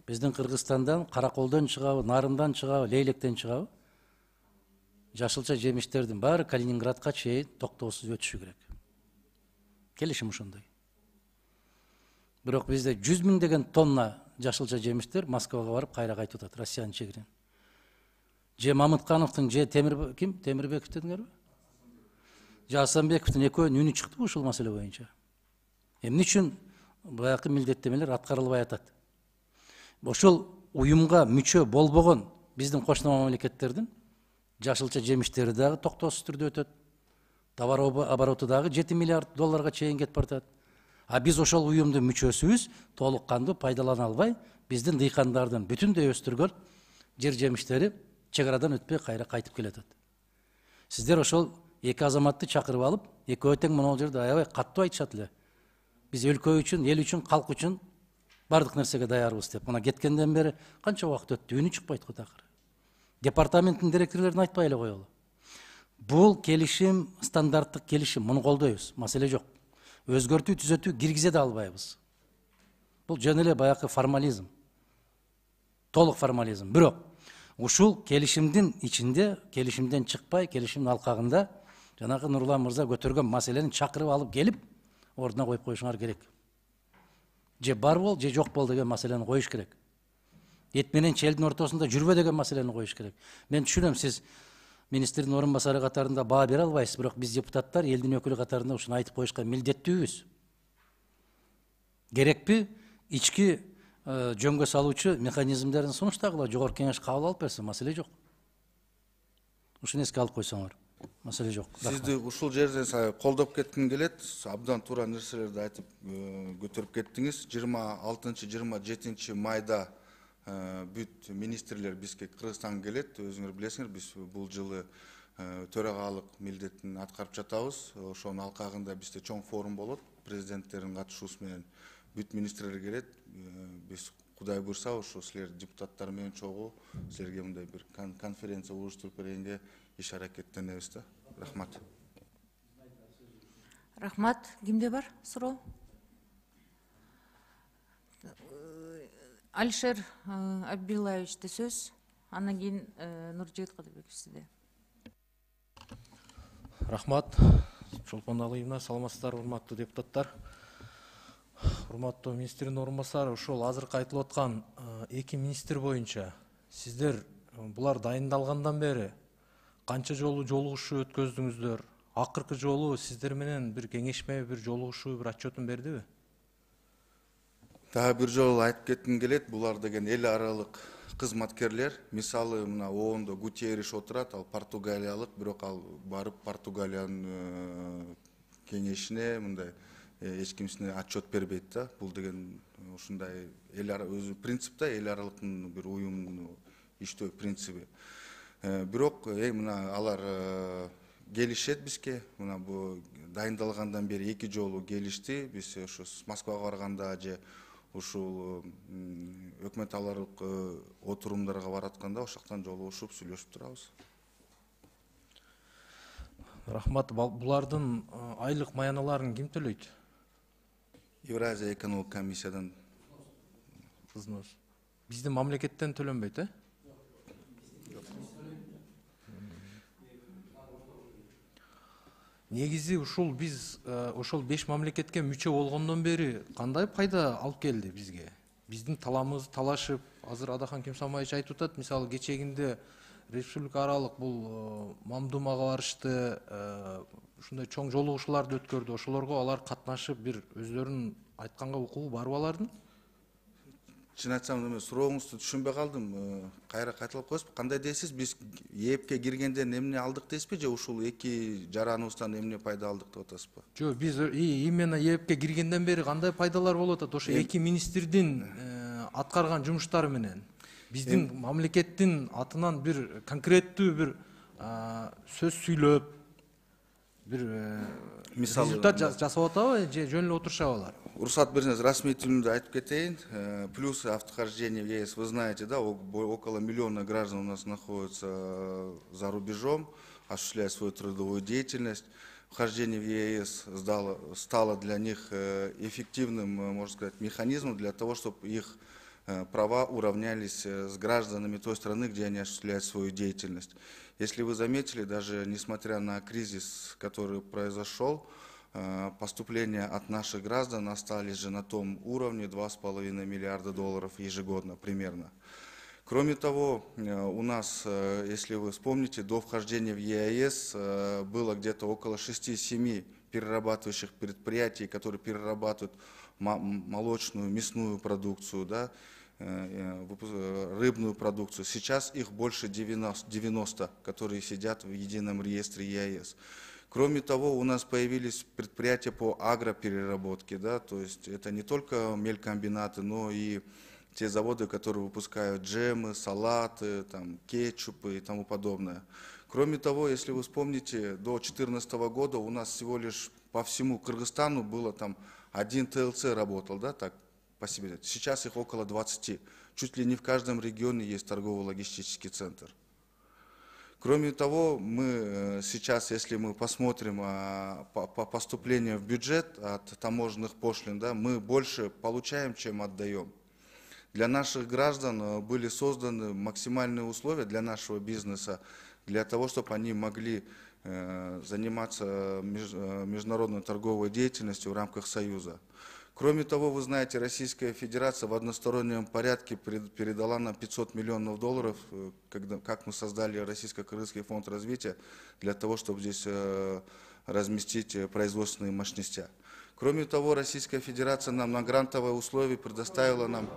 биздин Кыргызстандан караколдон чыгабы, нарындан чыгабы, лейлектен чыгабы, жашылча жемиштердин баары Калининградка чейин токтоосуз өтүшү керек. Келишим ошондой. Бирок бизде жүз миңдеген тонна жашылча жемиштер Москвага барып кайра кайтып атат, Россиянын чегинен. Же Мамыткановдун же Темир ким? Темирбеков дедиңерби? Же Асанбековдун экөөнүн үнү чыктыбы ушул маселе боюнча? Эмне үчүн баягы милдеттемелер аткарылбай атат? Ошол уюмга мүчө болбогон биздин кошуна мамлекеттердин жашылча жемиштери дагы токтоосуз түрдө өтөт. Товар обороту дагы жети миллиард долларга чейин кетип баратат. А биз ошол уюмдун мүчөсүбүз, толук кандуу пайдалана албай, биздин дыйкандардын бүтүндөй өстүргөн жер жемиштери чек арадан өтпөй кайра кайтып келатат. Сиздер ошол эки азаматты чакырып алып, экөө тең могул жерде аябай каттуу айтышат эле. Биз өлкө үчүн, эл үчүн, калк үчүн бардык нерсеге даярбыз деп. Мына кеткенден бери канча убакыт өттү, үнү чыкпайт го такыр. Департаменттин директорлорун айтпай эле коелу. Бул келишим стандарттык келишим, муну колдойбуз, маселе жок. Өзгөртүү, түзөтүү киргизе да албайбыз. Бул жөн эле баягы формализм. Толук формализм. Бирок ушул келишимдин ичинде, келишимден чыкпай, келишимдин алкагында жанагы Нурлан мырза көтөргөн маселени чакырып алып келип, ордуна коюп коюшуңар керек. Же бар бол, же жок бол деген маселени коюш керек. Эт менен челдин ортосунда жүрбө деген маселени коюш керек. Мен түшүнөм, сиз министрдин орун басары катарында баа бере албайсыз, бирок биз депутаттар элдин өкүлү катарында ушуну айтып коюшка милдеттүүбүз. Керекпи ички жөнгө салуучу механизмдерин сунуштагыла жогорку кеңеш кабыл алып берсе, маселе жок. Ушуну эске алып койсоңор, маселе жок. Сизди ушул жерден колдоп кетким келет. Абдан туура нерселерди айтып көтөрүп кеттиңиз. жыйырма алтынчы жыйырма жетинчи майда бүт министрлер бизге Кыргызстанга келет. Өзүңөр билесиңер, биз бул жылы төрагалык милдетин аткарып жатабыз. Ошонун алкагында бизде чоң форум болот. Президенттердин катышуусу менен бүт министрлер келет. Биз Кудай буйрса, ошо силер депутаттар менен чогуу силерге мындай бир конференция уюштуруп бергенге иш аракеттенебиз да. Рахмат. Рахмат. Кимде бар суроо? Алишер Абдуллаевичте сөз. Андан кийин Нуржигит Кадырбеков сизде. Рахмат. Чолпоналыевна, саламатсыздарбы, урматтуу депутаттар. Урматтуу министрдин орун басары, ошол азыркы айтылып аткан эки министр боюнча сиздер булар дайындалгандан бери канча жолу жолугушуу өткөздүңүздөр? Акыркы жолу сиздер менен бир кеңешме, бир жолугушуу, бир отчетун бердиби? Дагы бир жолу айтып кетким келет, булар деген эл аралык кызматкерлер. Мисалы, мына оондо Гутерриш отурат, ал португалиялык, бирок ал барып Португалиянын кеңешине мындай эч кимсине отчет бербейт да. Бул деген ушундай эл ара өзү принципте эл аралыктын бир уюмдун иштөө принциби. Бирок мына алар келишет бизге, мына бу дайындалгандан бери эки жолу келишти. Биз ошо Москвага барганда же ушул өкмөт аралык отурумдарга баратканда ошол жактан жолугушуп сүйлөшүп турабыз. Рахмат. Булардын айлык маяналарын ким төлөйт? Евразия экономик комиссиядан. Взнос. Биздин мамлекеттен төлөнбөйт, э? Негизи ушул биз ошол беш мамлекетке мүчө болгондон бери кандай пайда алып келди бизге? Биздин таламыбыз талашып, азыр Адахан Кемсамаевич айтып атат, мисалы кечегинде республика аралык бул Мамдумага барышты, ушундай чоң жолугушууларды өткөрдү. Ошолорго алар катнашып, бир өздөрүнүн айтканга укугу барбы алардын? Чын айтсам, мен сурооңузду түшүнбөй калдым. Кайра кайталап коесузбу? Кандай дейсиз? Биз ээпке киргенден эмне алдык дейсизби же ушул эки жараныбыздан эмне пайда алдык деп атасызбы? Жок, биз именно ээпке киргенден бери кандай пайдалар болуп атат? Ошо эки министрдин аткарган жумуштары менен биздин мамлекеттин атынан бир конкреттүү бир сөз сүйлөп, бир результат жасап атабы же жөн эле отурушабы алар? Уруксат берсеңиз, расмий тилинде айтып кетейин. Плюсы автохождения в ЕС, вы знаете, да, около миллиона граждан у нас находятся за рубежом, осуществляют свою трудовую деятельность. Вхождение в ЕС стало для них эффективным, можно сказать, механизмом для того, чтобы их права уравнялись с гражданами той страны, где они осуществляют свою деятельность. Если вы заметили, даже несмотря на кризис, который произошел, поступления от наших граждан остались же на том уровне два с половиной миллиарда долларов ежегодно примерно. Кроме того, у нас, если вы вспомните, до вхождения в ЕАЭС было где-то около шести-семи перерабатывающих предприятий, которые перерабатывают молочную, мясную продукцию, да, рыбную продукцию. Сейчас их больше девяноста, которые сидят в едином реестре ЕАЭС. Кроме того, у нас появились предприятия по агропереработке, да, то есть это не только мелькомбинаты, но и те заводы, которые выпускают джемы, салаты, там, кетчупы и тому подобное. Кроме того, если вы вспомните, до две тысячи четырнадцатого года у нас всего лишь по всему Кыргызстану было там один ТЛЦ работал, да, так по себе. Сейчас их около двадцати. Чуть ли не в каждом регионе есть торгово-логистический центр. Кроме того, мы сейчас, если мы посмотрим по поступлению в бюджет от таможенных пошлин, да, мы больше получаем, чем отдаем. Для наших граждан были созданы максимальные условия для нашего бизнеса, для того, чтобы они могли заниматься международной торговой деятельностью в рамках Союза. Кроме того, вы знаете, Российская Федерация в одностороннем порядке передала нам пятьсот миллионов долларов, когда, как мы создали Российско-Кыргызский фонд развития, для того, чтобы здесь разместить производственные мощности. Кроме того, Российская Федерация нам на грантовые условия предоставила нам...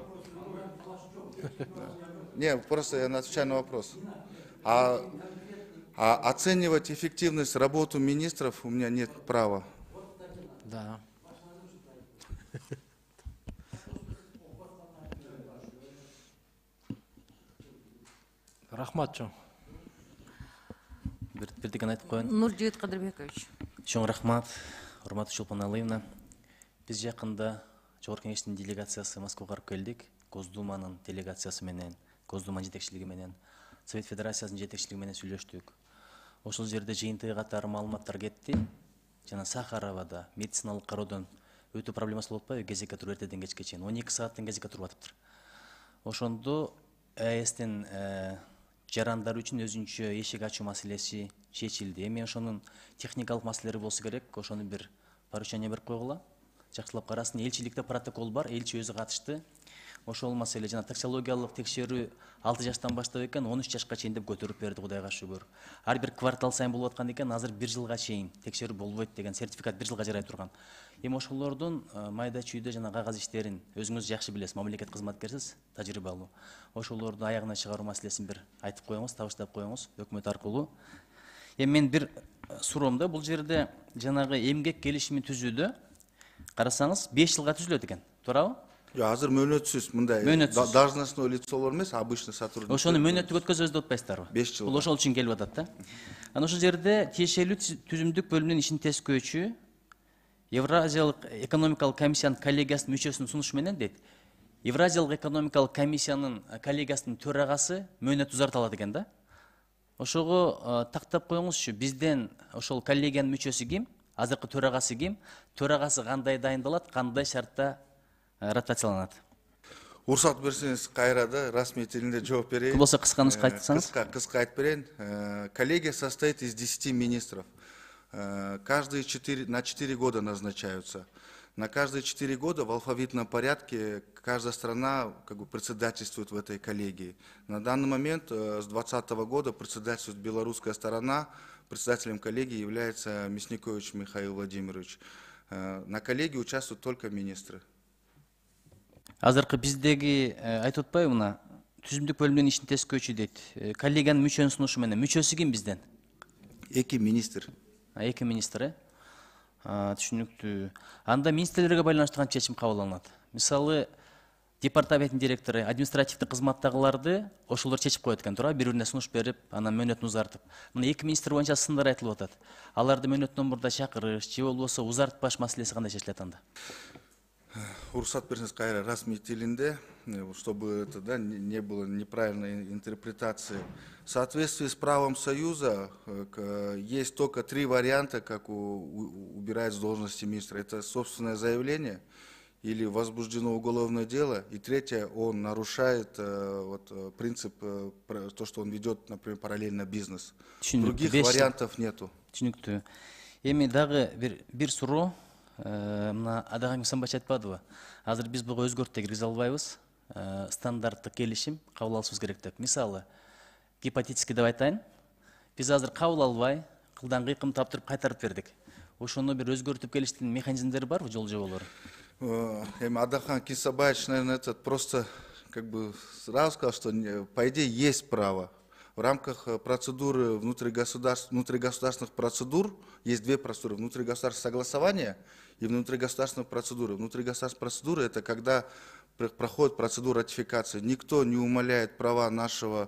Не, просто я отвечаю на вопрос. А, а оценивать эффективность работы министров у меня нет права. Да. Рахмат чоң. Бирдикен айтып коеюн. Нуржигит Кадырбекович. Чоң рахмат, урматтуу Чолпоналыевна. Биз жакында Жогорку Кеңештин делегациясы Москвага барып келдик. Госдуманын делегациясы менен, Госдума жетекчилиги менен, Совет Федерациясынын жетекчилиги менен сүйлөштүк. Ошол жерде жыйынтыгы катары маалыматтар кетти. Жана Сахаровада медициналык кароодон өтө проблемасы болуп атпайбы? Кезекке туруп эртеден кечке чейин он эки сааттан кезекке туруп атыптыр. Ошондо ЭСтин жарандар үчүн өзүнчө эшик ачуу маселеси чечилди. Эми ошонун техникалык маселелери болсо керек, ошону бир поручение берип койгула. Жакшылап карасын. Элчиликте протокол бар, элчи өзү катышты. Ошол маселе жана токсикологиялык текшерүү алты жаштан баштап экен, он үч жашка чейин деп көтөрүп берди, Кудайга шүгүр. Ар бир квартал сайын болуп аткан экен, азыр бир жылга чейин текшерүү болбойт деген сертификат бир жылга жарай турган. Эми ошолордун майда чүйдө жана кагаз иштерин өзүңүз жакшы билесиз, мамлекет кызматкерсиз, тажрыйбалуу. Ошолорду аягына чыгаруу маселесин бир айтып коюңуз, табыштап коюңуз өкмөт аркылуу. Эми мен бир суроом да, бул жерде жанагы эмгек келишими түзүүдө карасаңыз беш жылга түзүлөт экен, туурабы? Жок, азыр мөөнөтсүз мындай должностной лицолор эмес, обычный сотрудник. Ошону мөөнөттүк өткөзөбүз деп атпайсыздарбы? беш жыл. Бул ошол үчүн келип атат да. Анан ошол жерде тиешелүү түзүмдүк бөлүмүнүн ишин тескөөчү Евразиялык экономикалык комиссиянын коллегиясынын мүчөсүнүн сунушу менен дейт. Евразиялык экономикалык комиссиянын коллегиясынын төрагасы мөөнөт узартылат экен да. Ошого тактап коюңузчу, бизден ошол коллегиянын мүчөсү ким? Азыркы төрагасы ким? Төрагасы кандай дайындалат, кандай шартта ротацияланат? Уруксат берсеңиз кайра да расмий тилинде жооп берейин. Болсо кыска нуска айтсаңыз. Кыска, кыска айтып берейин. Коллегия состоит из десяти министров. Каждые четыре, на четыре года назначаются. На каждые четыре года в алфавитном порядке каждая страна как бы председательствует в этой коллегии. На данный момент с двадцатого года председательствует белорусская сторона. Председателем коллегии является Мясникович Михаил Владимирович. На коллегии участвуют только министры. Азыркы биздеги айтып атпайбы мына түзүмдүк бөлүмүнүн ишин тескөөчү дейт. Коллегиянын мүчөнүн сунушу менен мүчөсү ким бизден? Эки министр. Эки министр, э? Түшүнүктүү. Анда министрлерге байланыштуу кантип чечим кабыл алынат? Мисалы, департаменттин директору, административдик кызматтагыларды ошолор чечип коет экен, туура, бири-бирине сунуш берип, анан мөөнөтүн узартып. Мына эки министр боюнча сындар айтылып атат. Аларды мөөнөттөн мурда чакырыш, же болбосо узартпаш маселеси кандай чечилет анда? Уруксат берсеңиз кайра расмий тилинде, чтобы это, да, не было неправильной интерпретации. В соответствии с правом Союза есть только три варианта, как убирать с должности министра. Это собственное заявление или возбуждено уголовное дело. И третье, он нарушает вот, принцип, то, что он ведет, например, параллельно бизнес. Других вариантов нету. Түшүнүктүү. Эми дагы бир бир суроо. Мына Адаган Мисамбач айтпадыбы? Азыр биз буга өзгөртүү киргизе албайбыз. Стандарттык келишим кабыл алышыбыз керек деп. Мисалы, гипотетически деп айтайын. Биз азыр кабыл албай, кылдан кыйкым таптырып кайтарып бердик. Ошону бир өзгөртүп келиштин механизмдери барбы, жол жоболору? Эми Адахан Кисабаевич, наверное, этот просто как бы сразу сказал, что по идее есть право. В рамках процедуры внутригосударств, внутригосударственных процедур есть две процедуры. Внутригосударственное согласование и внутригосударственная процедура. Внутригосударственная процедура – это когда проходит процедура ратификации. Никто не умаляет права нашего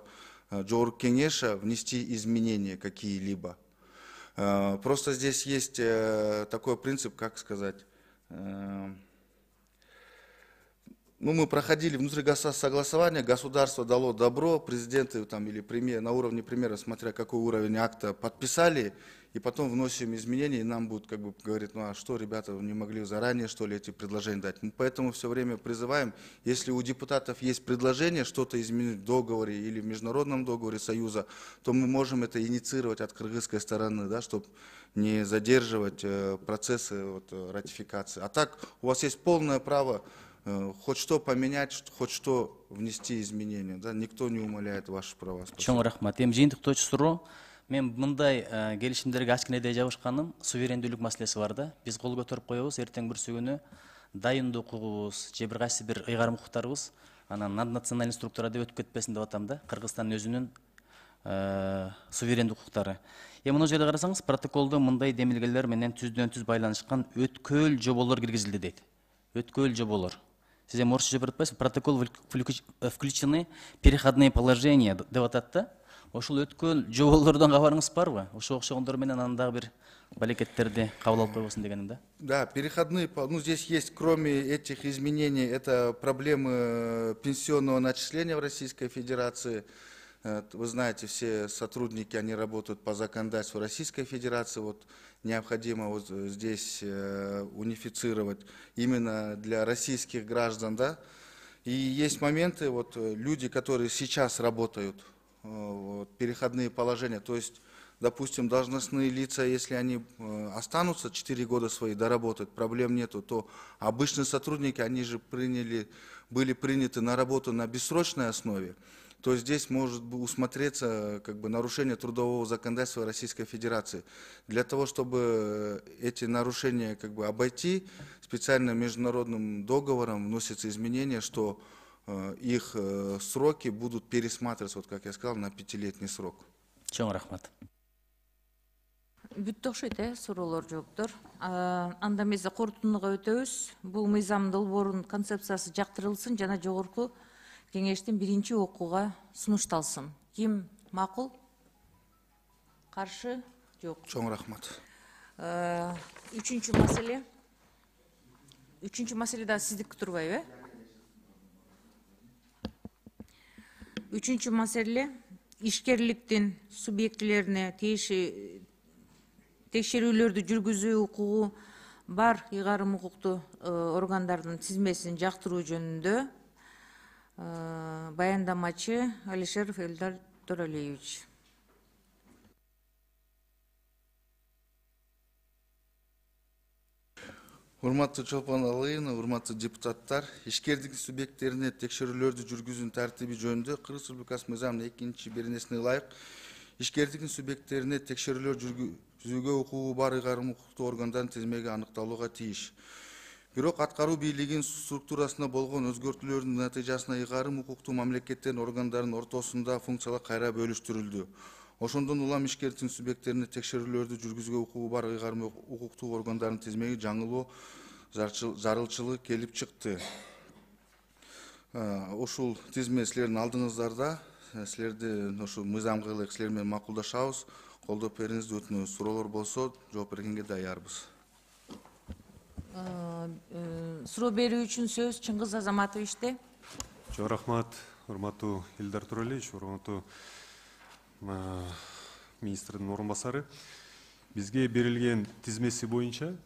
Жогорку Кеңеша внести изменения какие-либо. Просто здесь есть такой принцип, как сказать… Ну, мы проходили внутригосударственное согласование, государство дало добро, президенты там, или премьер, на уровне премьера, смотря какой уровень акта, подписали, и потом вносим изменения, и нам будут как бы говорить, ну а что, ребята, вы не могли заранее, что ли, эти предложения дать. Мы поэтому все время призываем, если у депутатов есть предложение что-то изменить в договоре или в международном договоре Союза, то мы можем это инициировать от кыргызской стороны, да, чтобы не задерживать э, процессы вот, ратификации. А так у вас есть полное право хоть что поменять, хоть что внести изменения, да, никто не умаляет ваши права. Чоң рахмат. Эми жыйынтыктоочу суроо, мен мындай келишимдерге ачкыне эле жабышканым, суверендүүлүк маселеси бар да. Биз кол көтөрүп коебуз, эртең бүрсү күнү дайындоо укугубуз, же бир кайсы бир ыйгарым укуктарыбыз анан наднациональный структура деп өтүп кетпесин деп атам да. Кыргызстандын өзүнүн суверендик укуктары. Эми мына жерде карасаңыз, протоколдо мындай демилгелер менен түздөн түз байланышкан өткөл жоболор киргизилди дейт. Өткөл жоболор. Сиз эми орусча деп атпайсызбы? Протокол включены переходные положения деп атат да. Ошол өткөл жоболордон кабарыңыз барбы? Ошо окшогондор менен анан дагы бир балекеттерди кабыл алып койбосун дегеним да. Да, переходные, ну здесь есть, кроме этих изменений, это проблемы пенсионного начисления в Российской Федерации. Вы знаете, все сотрудники, они работают по законодательству Российской Федерации. Вот необходимо вот здесь унифицировать именно для российских граждан, да. И есть моменты, вот люди, которые сейчас работают вот, переходные положения. То есть, допустим, должностные лица, если они останутся четыре года свои доработать, проблем нету, то обычные сотрудники, они же приняли, были приняты на работу на бессрочной основе. То здесь может усмотреться как бы, нарушение трудового законодательства Российской Федерации. Для того, чтобы эти нарушения как бы, обойти, специальным международным договором вносятся изменения, что э, их э, сроки будут пересматриваться, вот, как я сказал, на пятилетний срок. Чоң рахмат. Бүттү окшойт, э, суроолор, жооптор. Анда эмес корутундуга өтөбүз. Бул мыйзам долбоорунун концепциясы жактырылсын жана жогорку кеңештин биринчи окууга сунушталсын. Ким макул? Каршы? Жок. Чоң рахмат. Үчүнчү маселе. Үчүнчү маселе да сиздики турбайбы, э? Үчүнчү маселе ишкерликтин субъектилерине тиеши текшерүүлөрдү жүргүзүү укугу бар ыйгарым укуктуу органдардын тизмесин жактыруу жөнүндө баяндамачы Алишеров Элдар Төралиевич. Урматтуу Чолпон Алыйына, урматтуу депутаттар, ишкердик субъекттерине текшерүүлөрдү жүргүзүүнүн тартиби жөнүндө Кыргыз Республикасы мыйзамынын экинчи беренесине ылайык ишкердиктин субъекттерине текшерүүлөр жүргүзүүгө укугу бар ыйгарым укуктуу органдардын тизмеги аныкталууга тийиш. Бирок аткаруу бийлигинин структурасына болгон өзгөртүүлөрдүн натыйжасында ыйгарым укуктуу мамлекеттердин органдарынын ортосунда функциялар кайра бөлүштүрүлдү. Ошондон улам ишкердиктин субъекттерине текшерүүлөрдү жүргүзүүгө укугу бар ыйгарым укуктуу органдардын тизмеги жаңылоо зарылчылыгы келип чыкты. Ушул тизме силердин алдыңыздарда, силерди ошол мыйзамга ылайык силер менен макулдашабыз, колдоп бериңизди өтүнөбүз. Суроолор болсо жооп бергенге даярбыз. Суроо берүү үчүн сөз Чыңгыз Азаматовичте. Чоң рахмат, урматтуу Элдар Төралиевич, урматтуу министрдин орун басары. Бизге берилген тизмеси боюнча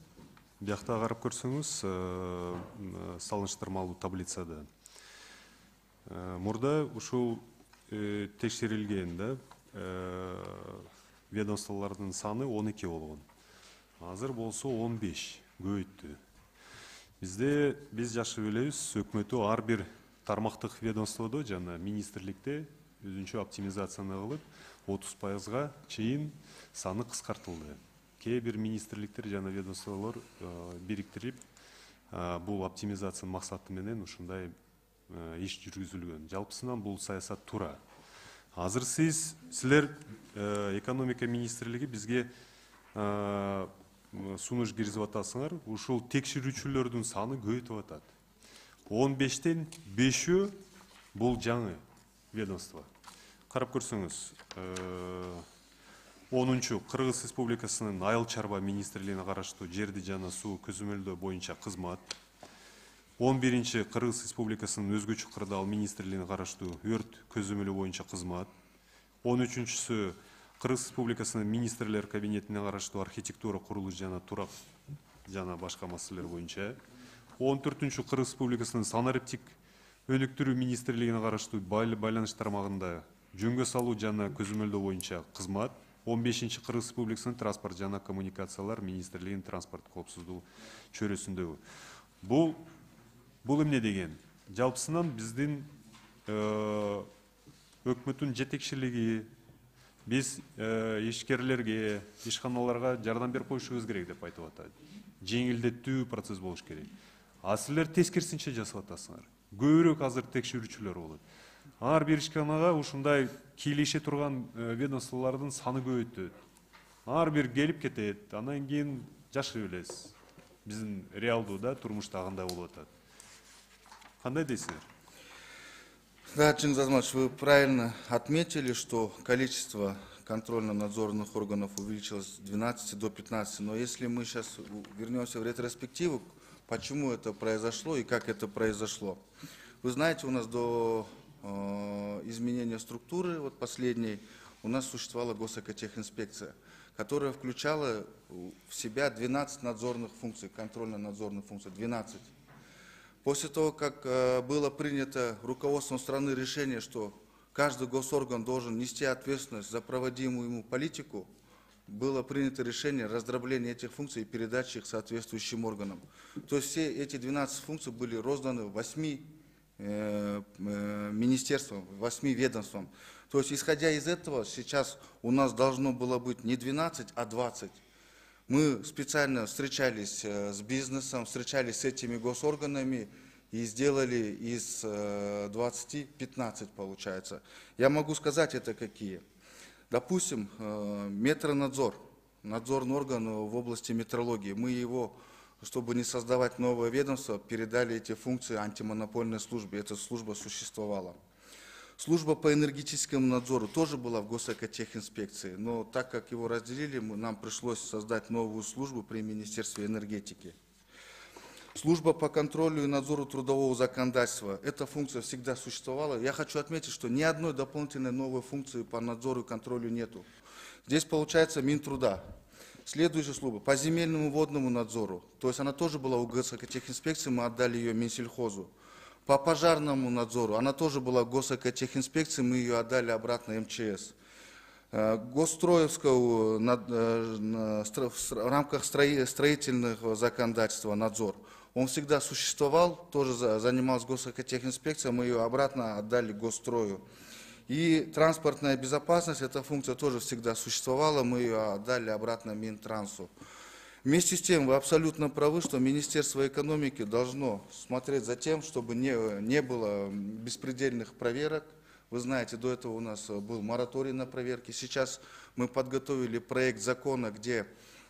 биякта карап көрсөңүз, салыштырмалуу таблицада мурда ушул текшерилген да ведомстволордун саны он эки болгон. Азыр болсо он беш көбөйттү. Бизде биз жакшы билебиз, өкмөтү ар бир тармактык ведомстводо жана министрликте өзүнчө оптимизацияны кылып, отуз пайызга чейин саны кыскартылды. Кээ бир министрликтер жана ведомстволор бириктирип, бул оптимизациянын максаты менен ушундай иш жүргүзүлгөн. Жалпысынан бул саясат туура. Азыр сиз, силер экономика министрлиги бизге сунуш киргизип атасыңар, ушул текшерүүчүлөрдүн саны көбөйтүп атат. он бештен бешөө бул жаңы ведомство. Карап көрсөңүз, онунчу Кыргыз Республикасынын Айыл чарба министрлигине караштуу жерди жана суу көзөмөлдөө боюнча кызмат. он биринчи Кыргыз Республикасынын өзгөчө кырдаал министрлигине караштуу өрт көзөмөлү боюнча кызмат. он үчүнчүсү Кыргыз Республикасынын министрлер кабинетине караштуу архитектура, курулуш жана турак жана башка маселелер боюнча. он төртүнчү Кыргыз Республикасынын санариптик өнүктүрүү министрлигине караштуу байланыш тармагында жөнгө салуу жана көзөмөлдөө боюнча кызмат. он бешинчи Кыргыз Республикасынын транспорт жана коммуникациялар министрлигинин транспорт коопсуздугу чөйрөсүндөгү. Бул бул эмне деген? Жалпысынан биздин өкмөттүн жетекчилиги биз ишкерлерге, ишканаларга жардам берип коюшубуз керек деп айтып атат. Жеңилдетүү процесс болуш керек. А силер тескерисинче жасап атасыңар. Көбүрөөк азыр текшерүүчүлөр болот. Ар бир ишканага ушундай кийлеше турган ведомстволордун саны көбөйтөт. Ар бир келип кетет. Андан кийин жакшы билесиз. Биздин реалдуу да турмушта кандай болуп атат. Кандай дейсиздер? Да, Чингиз Азаматович, вы правильно отметили, что количество контрольно-надзорных органов увеличилось с двенадцати до пятнадцати. Но если мы сейчас вернемся в ретроспективу, почему это произошло и как это произошло. Вы знаете, у нас до э, изменения структуры, вот последней, у нас существовала госэкотехинспекция, которая включала в себя двенадцать надзорных функций, контрольно-надзорных функций, двенадцать. После того, как э, было принято руководством страны решение, что каждый госорган должен нести ответственность за проводимую ему политику, было принято решение раздробления этих функций и передачи их соответствующим органам. То есть все эти двенадцать функций были розданы восьми э, э, министерствам, восьми ведомствам. То есть, исходя из этого, сейчас у нас должно было быть не двенадцать, а двадцать. Мы специально встречались с бизнесом, встречались с этими госорганами и сделали из двадцати пятнадцать, получается. Я могу сказать, это какие. Допустим, метронадзор, надзорный орган в области метрологии. Мы его, чтобы не создавать новое ведомство, передали эти функции антимонопольной службе. Эта служба существовала. Служба по энергетическому надзору тоже была в Госэкотехинспекции, но так как его разделили, нам пришлось создать новую службу при Министерстве энергетики. Служба по контролю и надзору трудового законодательства. Эта функция всегда существовала. Я хочу отметить, что ни одной дополнительной новой функции по надзору и контролю нету. Здесь получается Минтруда. Следующая служба по земельному водному надзору. То есть она тоже была у Госэкотехинспекции, мы отдали ее Минсельхозу. По пожарному надзору, она тоже была в Госэкотехинспекции, мы ее отдали обратно эм че эс. Госстроевского в рамках строительного законодательства надзор. Он всегда существовал, тоже занимался Госэкотехинспекцией, мы ее обратно отдали Госстрою. И транспортная безопасность, эта функция тоже всегда существовала, мы ее отдали обратно Минтрансу. Вместе с тем, вы абсолютно правы, что Министерство экономики должно смотреть за тем, чтобы не, не было беспредельных проверок. Вы знаете, до этого у нас был мораторий на проверки. Сейчас мы подготовили проект закона, где,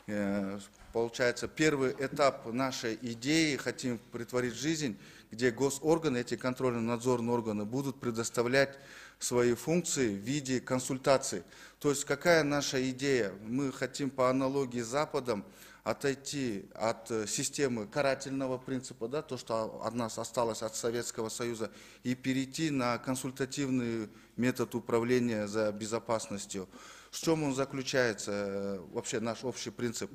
э, получается, первый этап нашей идеи хотим претворить в жизнь, где госорганы, эти контрольно-надзорные органы будут предоставлять свои функции в виде консультаций. То есть какая наша идея? Мы хотим по аналогии с Западом отойти от системы карательного принципа, да, то, что от нас осталось от Советского Союза, и перейти на консультативный метод управления за безопасностью. В чем он заключается, вообще наш общий принцип?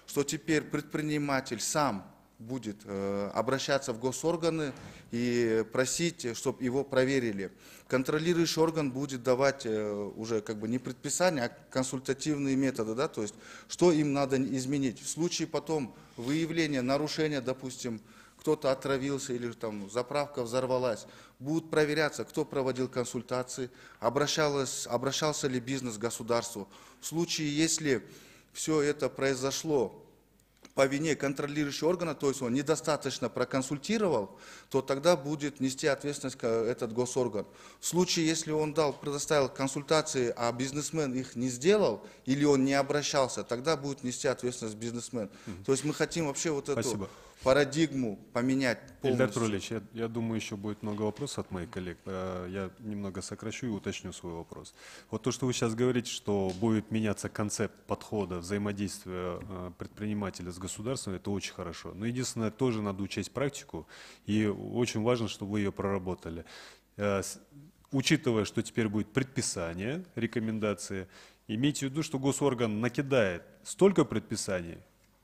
Что теперь предприниматель сам будет э, обращаться в госорганы и просить, чтобы его проверили. Контролирующий орган будет давать э, уже как бы не предписания, а консультативные методы, да, то есть что им надо изменить. В случае потом выявления нарушения, допустим, кто-то отравился или там заправка взорвалась, будут проверяться, кто проводил консультации, обращалось, обращался ли бизнес к государству. В случае, если все это произошло по вине контролирующего органа, то есть он недостаточно проконсультировал, то тогда будет нести ответственность этот госорган. В случае, если он дал, предоставил консультации, а бизнесмен их не сделал, или он не обращался, тогда будет нести ответственность бизнесмен. Mm-hmm. То есть мы хотим вообще вот эту Спасибо. парадигму поменять полностью. Ильдар Туралевич, я, я думаю, еще будет много вопросов от моих коллег. Я немного сокращу и уточню свой вопрос. Вот то, что вы сейчас говорите, что будет меняться концепт подхода взаимодействия предпринимателя с государством, это очень хорошо. Но единственное, тоже надо учесть практику, и очень важно, чтобы вы ее проработали. Учитывая, что теперь будет предписание, рекомендации, имейте в виду, что госорган накидает столько предписаний,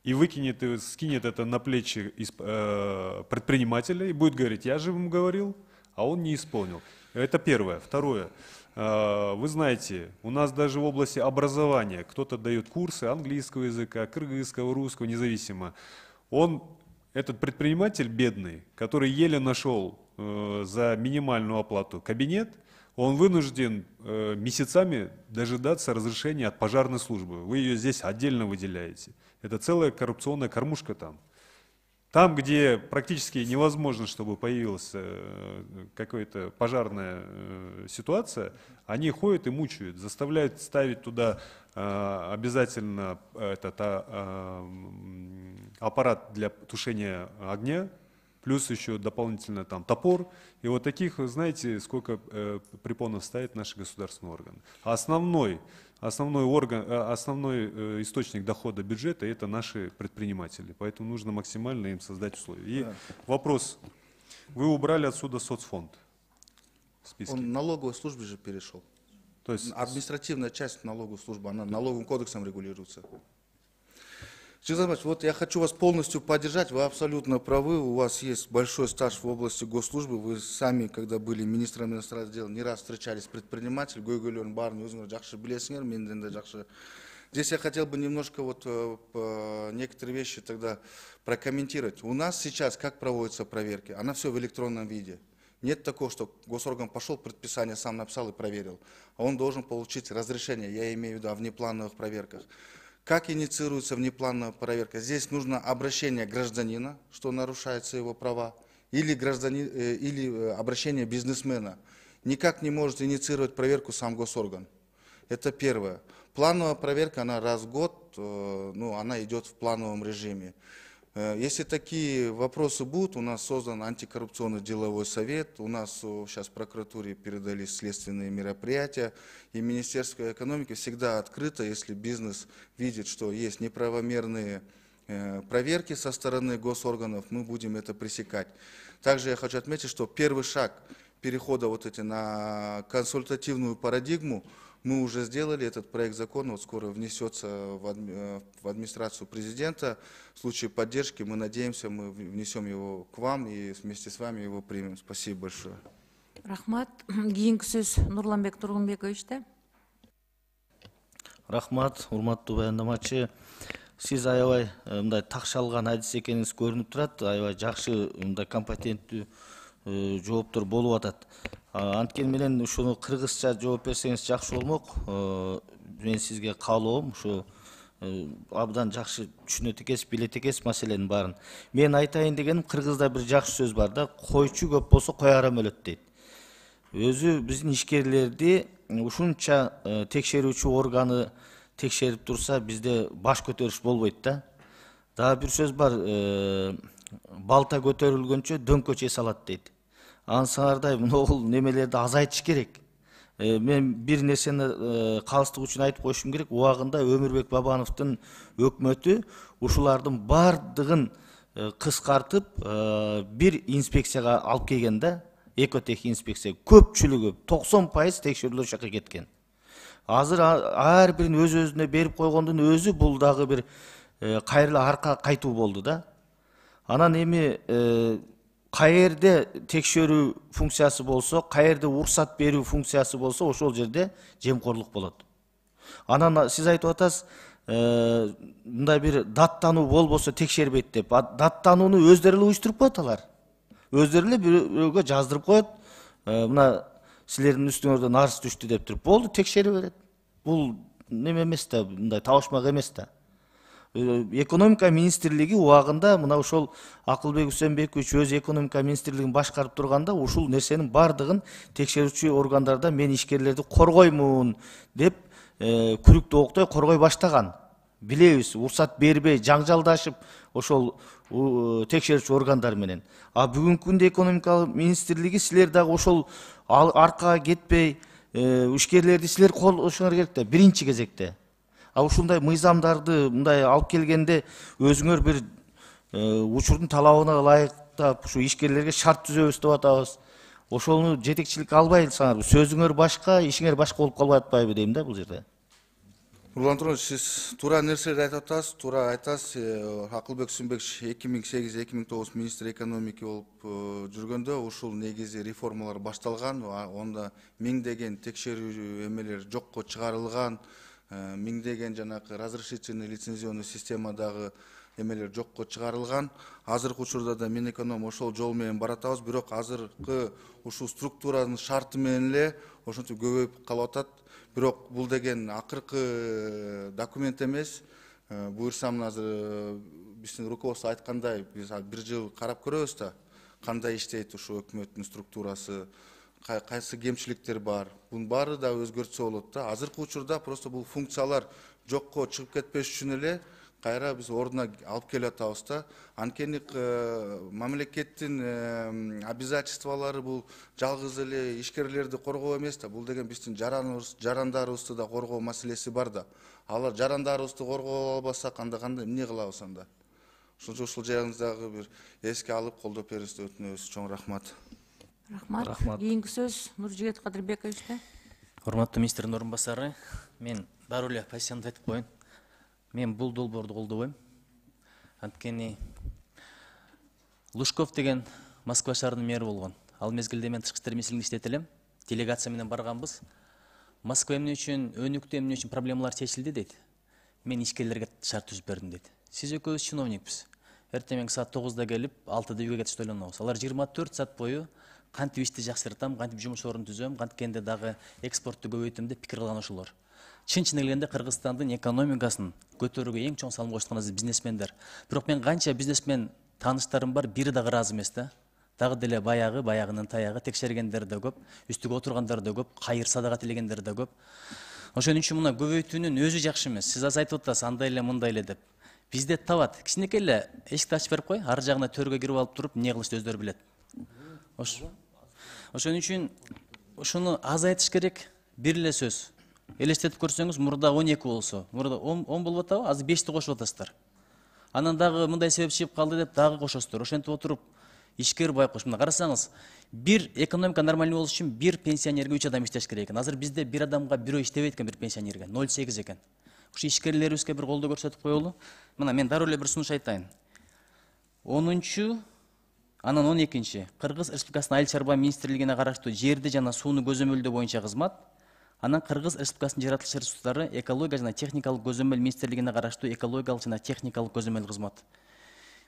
и выкинет, и скинет это на плечи э, предпринимателя и будет говорить, я же ему говорил, а он не исполнил. Это первое. Второе. Э, вы знаете, у нас даже в области образования кто-то дает курсы английского языка, кыргызского, русского, независимо. Он, этот предприниматель бедный, который еле нашел э, за минимальную оплату кабинет, он вынужден э, месяцами дожидаться разрешения от пожарной службы. Вы ее здесь отдельно выделяете. Это целая коррупционная кормушка там. Там, где практически невозможно, чтобы появилась э, какая-то пожарная э, ситуация, они ходят и мучают, заставляют ставить туда э, обязательно этот э, аппарат для тушения огня, плюс еще дополнительно там топор. И вот таких, знаете, сколько э, препонов ставят наши государственные органы. А основной, основной, орган, э, основной э, источник дохода бюджета – это наши предприниматели. Поэтому нужно максимально им создать условия. И да. Вопрос. Вы убрали отсюда соцфонд в списке. Он налоговой службе же перешел. То есть административная часть налоговой службы, она налоговым кодексом регулируется. Жигит Азаматович, вот я хочу вас полностью поддержать. Вы абсолютно правы. У вас есть большой стаж в области госслужбы. Вы сами, когда были министром иностранных дел, не раз встречались с предпринимателем. Гойгөлөрдүн баарын өзүңөр жакшы билесиңер, менден да жакшы. Здесь я хотел бы немножко вот э, некоторые вещи тогда прокомментировать. У нас сейчас как проводятся проверки? Она все в электронном виде. Нет такого, что госорган пошел, предписание сам написал и проверил. А он должен получить разрешение, я имею в виду о внеплановых проверках. Как инициируется внеплановая проверка? Здесь нужно обращение гражданина, что нарушаются его права, или, гражданин, э, или обращение бизнесмена. Никак не может инициировать проверку сам госорган. Это первое. Плановая проверка, она раз в год, э, ну, она идет в плановом режиме. Э, если такие вопросы будут, у нас создан антикоррупционный деловой совет, у нас э, сейчас в прокуратуре передались следственные мероприятия, и Министерство экономики всегда открыто, если бизнес видит, что есть неправомерные э, проверки со стороны госорганов, мы будем это пресекать. Также я хочу отметить, что первый шаг перехода вот эти на консультативную парадигму мы уже сделали. Этот проект закона вот скоро внесется в, адми, в администрацию президента. В случае поддержки мы надеемся, мы внесем его к вам и вместе с вами его примем. Спасибо большое. Рахмат. Кийинки сөз Нурланбек Тургунбековичте. Рахмат, урматтуу баяндамачы. Сиз аябай мындай такшалган адис экениңиз көрүнүп турат. Аябай жакшы мындай компетенттүү жооптор болуп атат. Анткени менен ушуну кыргызча жооп берсеңиз жакшы болмок. Мен сизге каалоом ушу абдан жакшы түшүнөт экенсиз, билет экенсиз маселенин баарын. Мен айтайын дегеним, кыргызда бир жакшы сөз бар да, койчу көп болсо кой арам өлөт дейт. Өзү биздин ишкерлерди ушунча текшерүүчү органы текшерип турса, бизде баш көтөрүш болбойт да. Дагы бир сөз бар, балта көтөрүлгөнчө дөңкө чей салат дейт. Ансыңардай могул немелерди азайтыш керек. Мен бир нерсени калыстык үчүн айтып коюшум керек. Убагында Өмүрбек Бабановдун өкмөтү ушулардын бардыгын кыскартып бир инспекцияга алып келген да, экотех инспекция. Көпчүлүгү токсон пайыз текшерүүлөр ошол жака кеткен. Азыр ар бирин өз өзүнө берип койгондун өзү бул дагы бир кайрылы арка кайтуу болду да. Анан эми каерде текшерүү функциясы болсо, каерде уруксат берүү функциясы болсо, ошол жерде жемкорлук болот. Анан сиз айтып атасыз, мындай бир даттануу болбосо текшербейт деп. Даттанууну өздөрү эле уюштуруп коет алар. Өздөрү эле бирөөгө жаздырып коет. Мына силердин үстүңөрдөн арыз түштү деп туруп, болду, текшере берет. Бул неме эмес да, мындай табышмак эмес да. Экономика министрлиги убагында мына ошол Акылбек Үсөнбекович өз экономика министрлигин башкарып турганда ушул нерсенин бардыгын текшерүүчү органдарда мен ишкерлерди коргоймун деп күрүктүү октой коргой баштаган. Билебиз, уруксат бербей жаңжалдашып ошол текшерүүчү органдар менен. А бүгүнкү күндө экономика министрлиги силер дагы ошол аркага кетпей ишкерлерди силер колдошуңар керек да, биринчи кезекте. А ушундай мыйзамдарды мындай алып келгенде өзүңөр бир учурдун талабына ылайыктап ушу ишкерлерге шарт түзөбүз деп атабыз. Ошону жетекчилик албайсыңар, сөзүңөр башка, ишиңер башка болуп калбай атпайбы дейм да бул жерде. Нурлан Турович, сиз туура нерселерди айтып атасыз, туура айтасыз. Акылбек Үсөнбекович эки миң сегиз эки миң тогуз министр экономики болуп жүргөндө ушул негизи реформалар башталган, онда миңдеген текшерүү эмелер жокко чыгарылган, миңдеген жанакы разрешительный лицензионный системадагы эмелер жокко чыгарылган. Азыркы учурда да Минэконом ошол жол менен баратабыз, бирок азыркы ушул структуранын шарты менен эле ошентип көбөйүп калып атат. Бирок бул деген акыркы документ эмес. Буюрсам азыр биздин руководство айткандай, биз бир жыл карап көрөбүз да, кандай иштейт ушул өкмөттүн структурасы, кайсы кемчиликтер бар. Бунун баары да өзгөртсө болот да. Азыркы учурда просто бул функциялар жокко чыгып кетпеш үчүн эле кайра биз ордуна алып келип атабыз да. Анткени мамлекеттин обязательстволору бул жалгыз эле ишкерлерди коргоо эмес да. Бул деген биздин жарандарыбызды да коргоо маселеси бар да. Алар жарандарыбызды коргоо албасак, анда кандай эмне кылабыз анда? Ошончо ушул жайыңыздагы бир эске алып колдоп берүүңүздү өтүнөбүз. Чоң рахмат. Рахмат. Кийинки сөз Нуржигит Кадырбековичте. Урматтуу министрдин орун басары, мен дароо эле позициямды айтып коеюн. Мен бул долбоорду колдобойм. Анткени Лужков деген Москва шаарынын мэри болгон. Ал мезгилде мен тышкы иштер министрлигинде иштеп элем. Делегация менен барганбыз. Москва эмне үчүн, өнүктү, эмне үчүн проблемалар чечилди дейт. Мен ишкерлерге шарт түзүп бердим дейт. Сиз экөөбүз чиновникпиз. Эртең саат тогузда келип, алтыда үйгө кетишти ойлонобуз. Алар жыйырма төрт саат бою кантип ишти жакшыртам, кантип жумуш орун түзөм, канткенде дагы экспортту көбөйтөм деп пикир кылган ошолор. Чын-чын келгенде Кыргызстандын экономикасын көтөрүүгө эң чоң салым кошкон бизнесмендер. Бирок мен канча бизнесмен тааныштарым бар, бири дагы ыраазы эмес да. Дагы деле баягы, баягынын таягы, текшергендер да көп, үстүгө отургандар да көп, кайыр садага тилегендер да көп. Ошон үчүн мына көбөйтүүнүн өзү жакшы эмес. Сиз азыр айтып атасыз, андай эле, мындай эле деп. Бизде табат. Кичинекей эле эшикти ачып берип кой, ар жагына төргө кирип алып туруп, эмне кылышты өздөрү билет. Ошон үчүн ушуну азайтыш керек. Бир эле сөз. Элестетип көрсөңүз, мурда он эки болсо, мурда он болуп атабы, азыр бешти кошуп атасыздар. Анан дагы мындай себеп чыгып калды деп дагы кошосуздар. Ошентип отуруп ишкер байкош. Мына карасаңыз, бир экономика нормалдуу болуш үчүн бир пенсионерге үч адам иштеш керек экен. Азыр бизде бир адамга бирөө иштебейт экен, бир пенсионерге ноль сегиз экен. Ушу ишкерлерибизге бир колдоо көрсөтүп коелу. Мына мен дароо эле бир сунуш айтайын. онунчу, анан он экинчи Кыргыз Республикасынын Айыл чарба министрлигине караштуу жерди жана сууну көзөмөлдөө боюнча кызмат, анан Кыргыз Республикасынын жер атылыш ресурстары экология жана техникалык көзөмөл министрлигине караштуу экологиялык жана техникалык көзөмөл кызмат.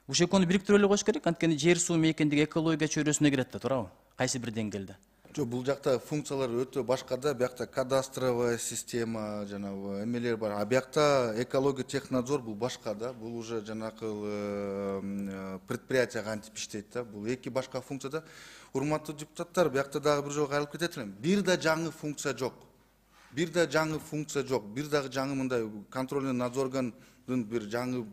Ушул экөөнү бириктирип эле коюш керек, анткени жер суу мейкиндиги экология чөйрөсүнө кирет да, туурабы? Кайсы бир деңгээлде. Жок, бул жакта функциялар өтө башка да, биякта кадастровая система, жанагы эмелер бар. А биякта экология технадзор бул башка да, бул уже жанакы предприятие кантип иштейт да, бул эки башка функция да. Урматтуу депутаттар, биякта дагы бир жолу кайрылып кетет элем. Бир да жаңы функция жок. Бир да жаңы функция жок. Бир дагы жаңы мындай контрольный надзоргандын бир жаңы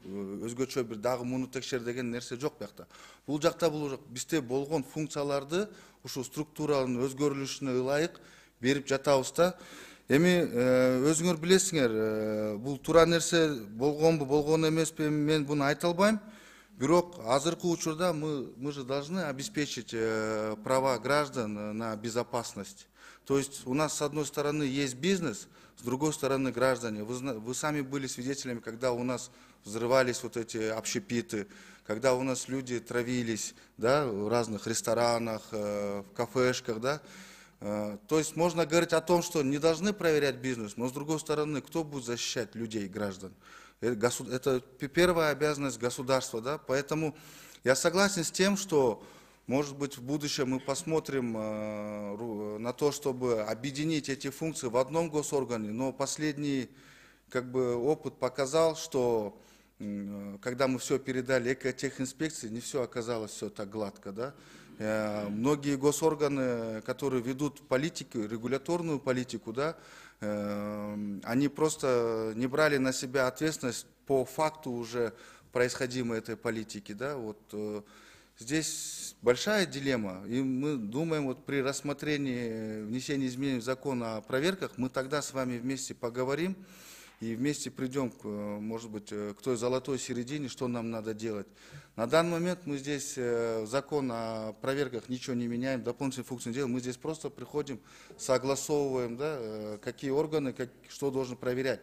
өзгөчө бир дагы муну текшер деген нерсе жок биякта. Бул жакта бул бизде болгон функцияларды ушул структуранын өзгөрүлүшүнө ылайык берип жатабыз да. Эми өзүңөр билесиңер, бул туура нерсе болгонбу, болгон эмеспи, мен буну айта албайм. Бирок азыркы учурда мы мы же должны обеспечить права граждан на безопасность. То есть у нас с одной стороны есть бизнес, с другой стороны граждане. Вы, вы сами были свидетелями, когда у нас взрывались вот эти общепиты, когда у нас люди травились, да, в разных ресторанах, в кафешках, да. То есть можно говорить о том, что не должны проверять бизнес, но с другой стороны, кто будет защищать людей, граждан? Это первая обязанность государства, да. Поэтому я согласен с тем, что может быть, в будущем мы посмотрим э, на то, чтобы объединить эти функции в одном госоргане, но последний как бы, опыт показал, что э, когда мы все передали экотехинспекции, не все оказалось все так гладко. Да? Э, многие госорганы, которые ведут политику, регуляторную политику, да, э, они просто не брали на себя ответственность по факту уже происходимой этой политики. Да? Вот, э, здесь большая дилемма, и мы думаем, вот при рассмотрении внесения изменений в закон о проверках, мы тогда с вами вместе поговорим и вместе придем, к, может быть, к той золотой середине, что нам надо делать. На данный момент мы здесь закон о проверках ничего не меняем, дополнительные функции не делаем, мы здесь просто приходим, согласовываем, да, какие органы, как, что должны проверять.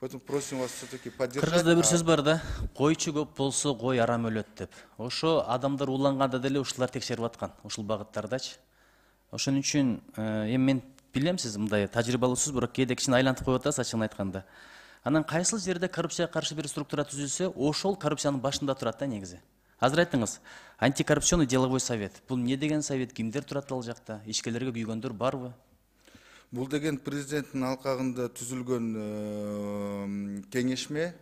Поэтому просим вас все-таки поддержать. Кыргызда бир сөз бар да, койчу көп болсо кой арам өлөт деп. Ошо адамдар уланганда деле ушулар текшерип аткан, ушул багыттардачы. Ошон үчүн эми мен билем, сиз мындай тажрыйбалуусуз, бирок кээде кичине айлантып коюп атасыз, ачыгын айтканда. Анан кайсыл жерде коррупцияга каршы бир структура түзүлсө, ошол коррупциянын башында турат да негизи. Азыр айттыңыз, антикоррупционный деловой совет. Бул эмне деген совет, кимдер турат ал жакта, ишкерлерге күйгөндөр барбы? Бул деген президенттин алкагында түзүлгөн кеңешме,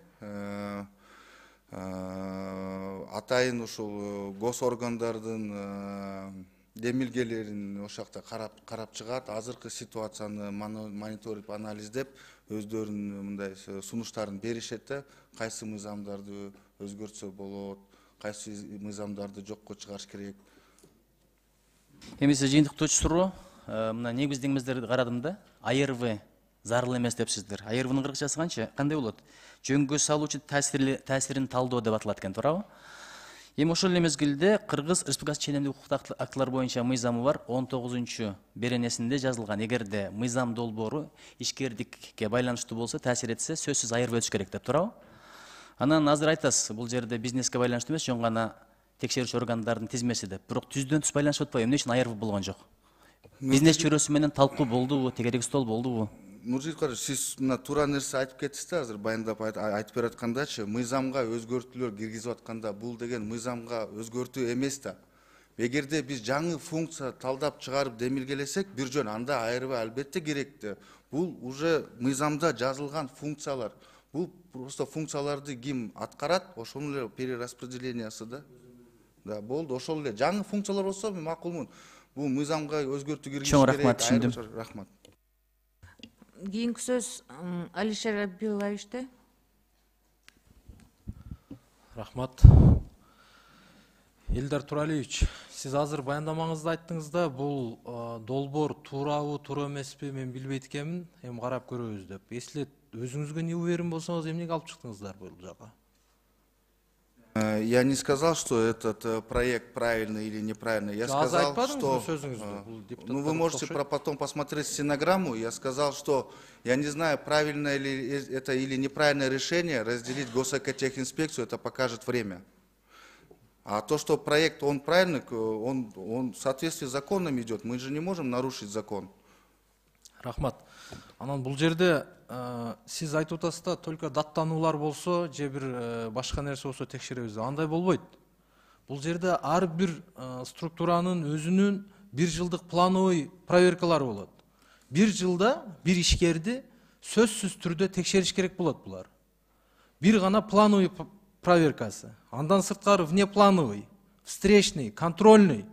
атайын ушул госоргандардын демилгелерин ошол жакта карап карап чыгат, азыркы ситуацияны мониторип, анализдеп, өздөрүнүн мындай сунуштарын беришет да, кайсы мыйзамдарды өзгөртсө болот, кайсы мыйзамдарды жокко чыгарыш керек. Эми сиз жыйынтыктоочу суроо, мына негиздеңиздерди карадым да, А Р В зарыл эмес депсиздер. А Р В'нын кыргызчасы канча? Кандай болот? Жөнгө салуучу таасирин талдоо деп аталат экен, туурабы? Эми ошол эле мезгилде Кыргыз Республикасы ченемдик укуктук актылар боюнча мыйзамы бар, он тогузунчу беренесинде жазылган. Эгерде мыйзам долбоору ишкердикке байланыштуу болсо, таасир этсе, сөзсүз А Р В өтүш керек деп, туурабы? Анан азыр айтасыз, бул жерде бизнеске байланыштуу эмес, жөн гана текшерүүчү органдардын тизмеси деп. Бирок түздөн түз байланышып атпайбы? Эмне үчүн айырып болгон жок? Бизнес чөйрөсү менен талкуу болдубу, тегерек стол болдубу? Нуржигит Карыш, сиз мына туура нерсе айтып кеттиз да, азыр баяндап айтып берип аткандачы, мыйзамга өзгөртүүлөр киргизип атканда бул деген мыйзамга өзгөртүү эмес да. Эгерде биз жаңы функция талдап чыгарып демилгелесек, бир жөн анда айырбай албетте керекти. Бул уже мыйзамда жазылган функциялар. Бул просто функцияларды ким аткарат, ошонун эле перераспределениясы да. Да, болду, ошол эле. Жаңы функциялар болсо мен макулмун. Бул мыйзамга өзгөртүү киргизиш керек. Чоң рахмат, түшүндүм. Рахмат. Кийинки сөз Алишер Абиловичте. Рахмат. Элдар Туралиевич, сиз азыр баяндамаңызда айттыңыз да, бул долбоор туурабы, туура эмеспи, мен билбейт экенмин, эми карап көрөбүз деп. Эслет, өзүңүзгө не уверен болсоңуз, эмнеге алып чыктыңыздар бул жака? Я не сказал, что этот проект правильный или неправильный. Я сказал, что... Ну, вы можете потом посмотреть стенограмму. Я сказал, что я не знаю, правильное ли это или неправильное решение разделить госэкотехинспекцию, это покажет время. А то, что проект, он правильный, он, он в соответствии с законом идет. Мы же не можем нарушить закон. Рахмат. Анан бул жерде сиз айтып атасыз да, только даттануулар болсо, же бир башка нерсе болсо текшеребиз. Андай болбойт. Бул жерде ар бир структуранын өзүнүн бир жылдык плановый проверкалары болот. Бир жылда бир ишкерди сөзсүз түрдө текшериш керек болот булар. Бир гана плановый проверкасы. Андан сырткары внеплановый, встречный, контрольный.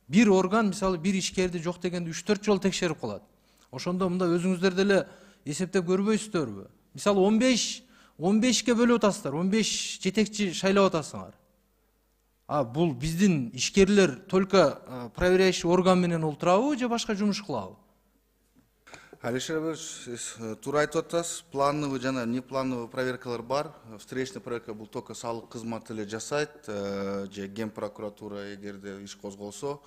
Бир орган, мисалы, бир ишкерди жок дегенде үч төрт жолу текшерип калат. Ошондо мында өзүңүздөр деле эсептеп көрбөйсүздөрбү? Мисалы, он беш он бешке бөлүп атасыздар, он беш жетекчи шайлап атасыңар. А бул биздин ишкерлер только проверяющий орган менен олтурабы же башка жумуш кылабы? Алишер Абилович, туура айтып атасыз, плановый жана неплановый проверкалар бар. Встречный проверка бул только салык кызматы эле жасайт, же ген прокуратура эгерде иш козголсо.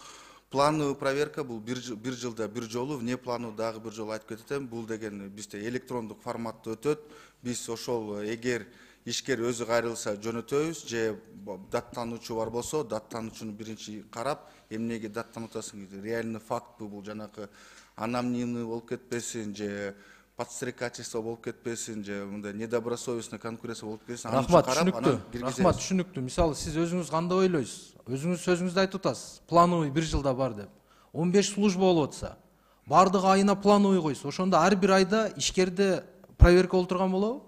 Плановый проверка бул бир жылда бир жолу, вне плановый дагы бир жолу айтып кетем. Бул деген бизде электрондук форматта өтөт. Биз ошол эгер ишкер өзү кайрылса жөнөтөбүз, же даттануучу бар болсо, даттануучуну биринчи карап, эмнеге даттанып атасың, реальный фактпы бул, жанакы аномнимный болуп кетпесин, же подстрекательство болуп кетпесин, же мындай недобросовестный конкуренция болуп кетпесин. Рахмат, түшүнүктүү. Рахмат, түшүнүктүү. Мисалы, сиз өзүңүз кандай ойлойсуз? Өзүңүз сөзүңүздө айтып атасыз, плановый бир жылда бар деп. он беш служба болуп атса, бардыгы айына плановый койсо, ошондо ар бир айда ишкерде проверка болуп турган болобу?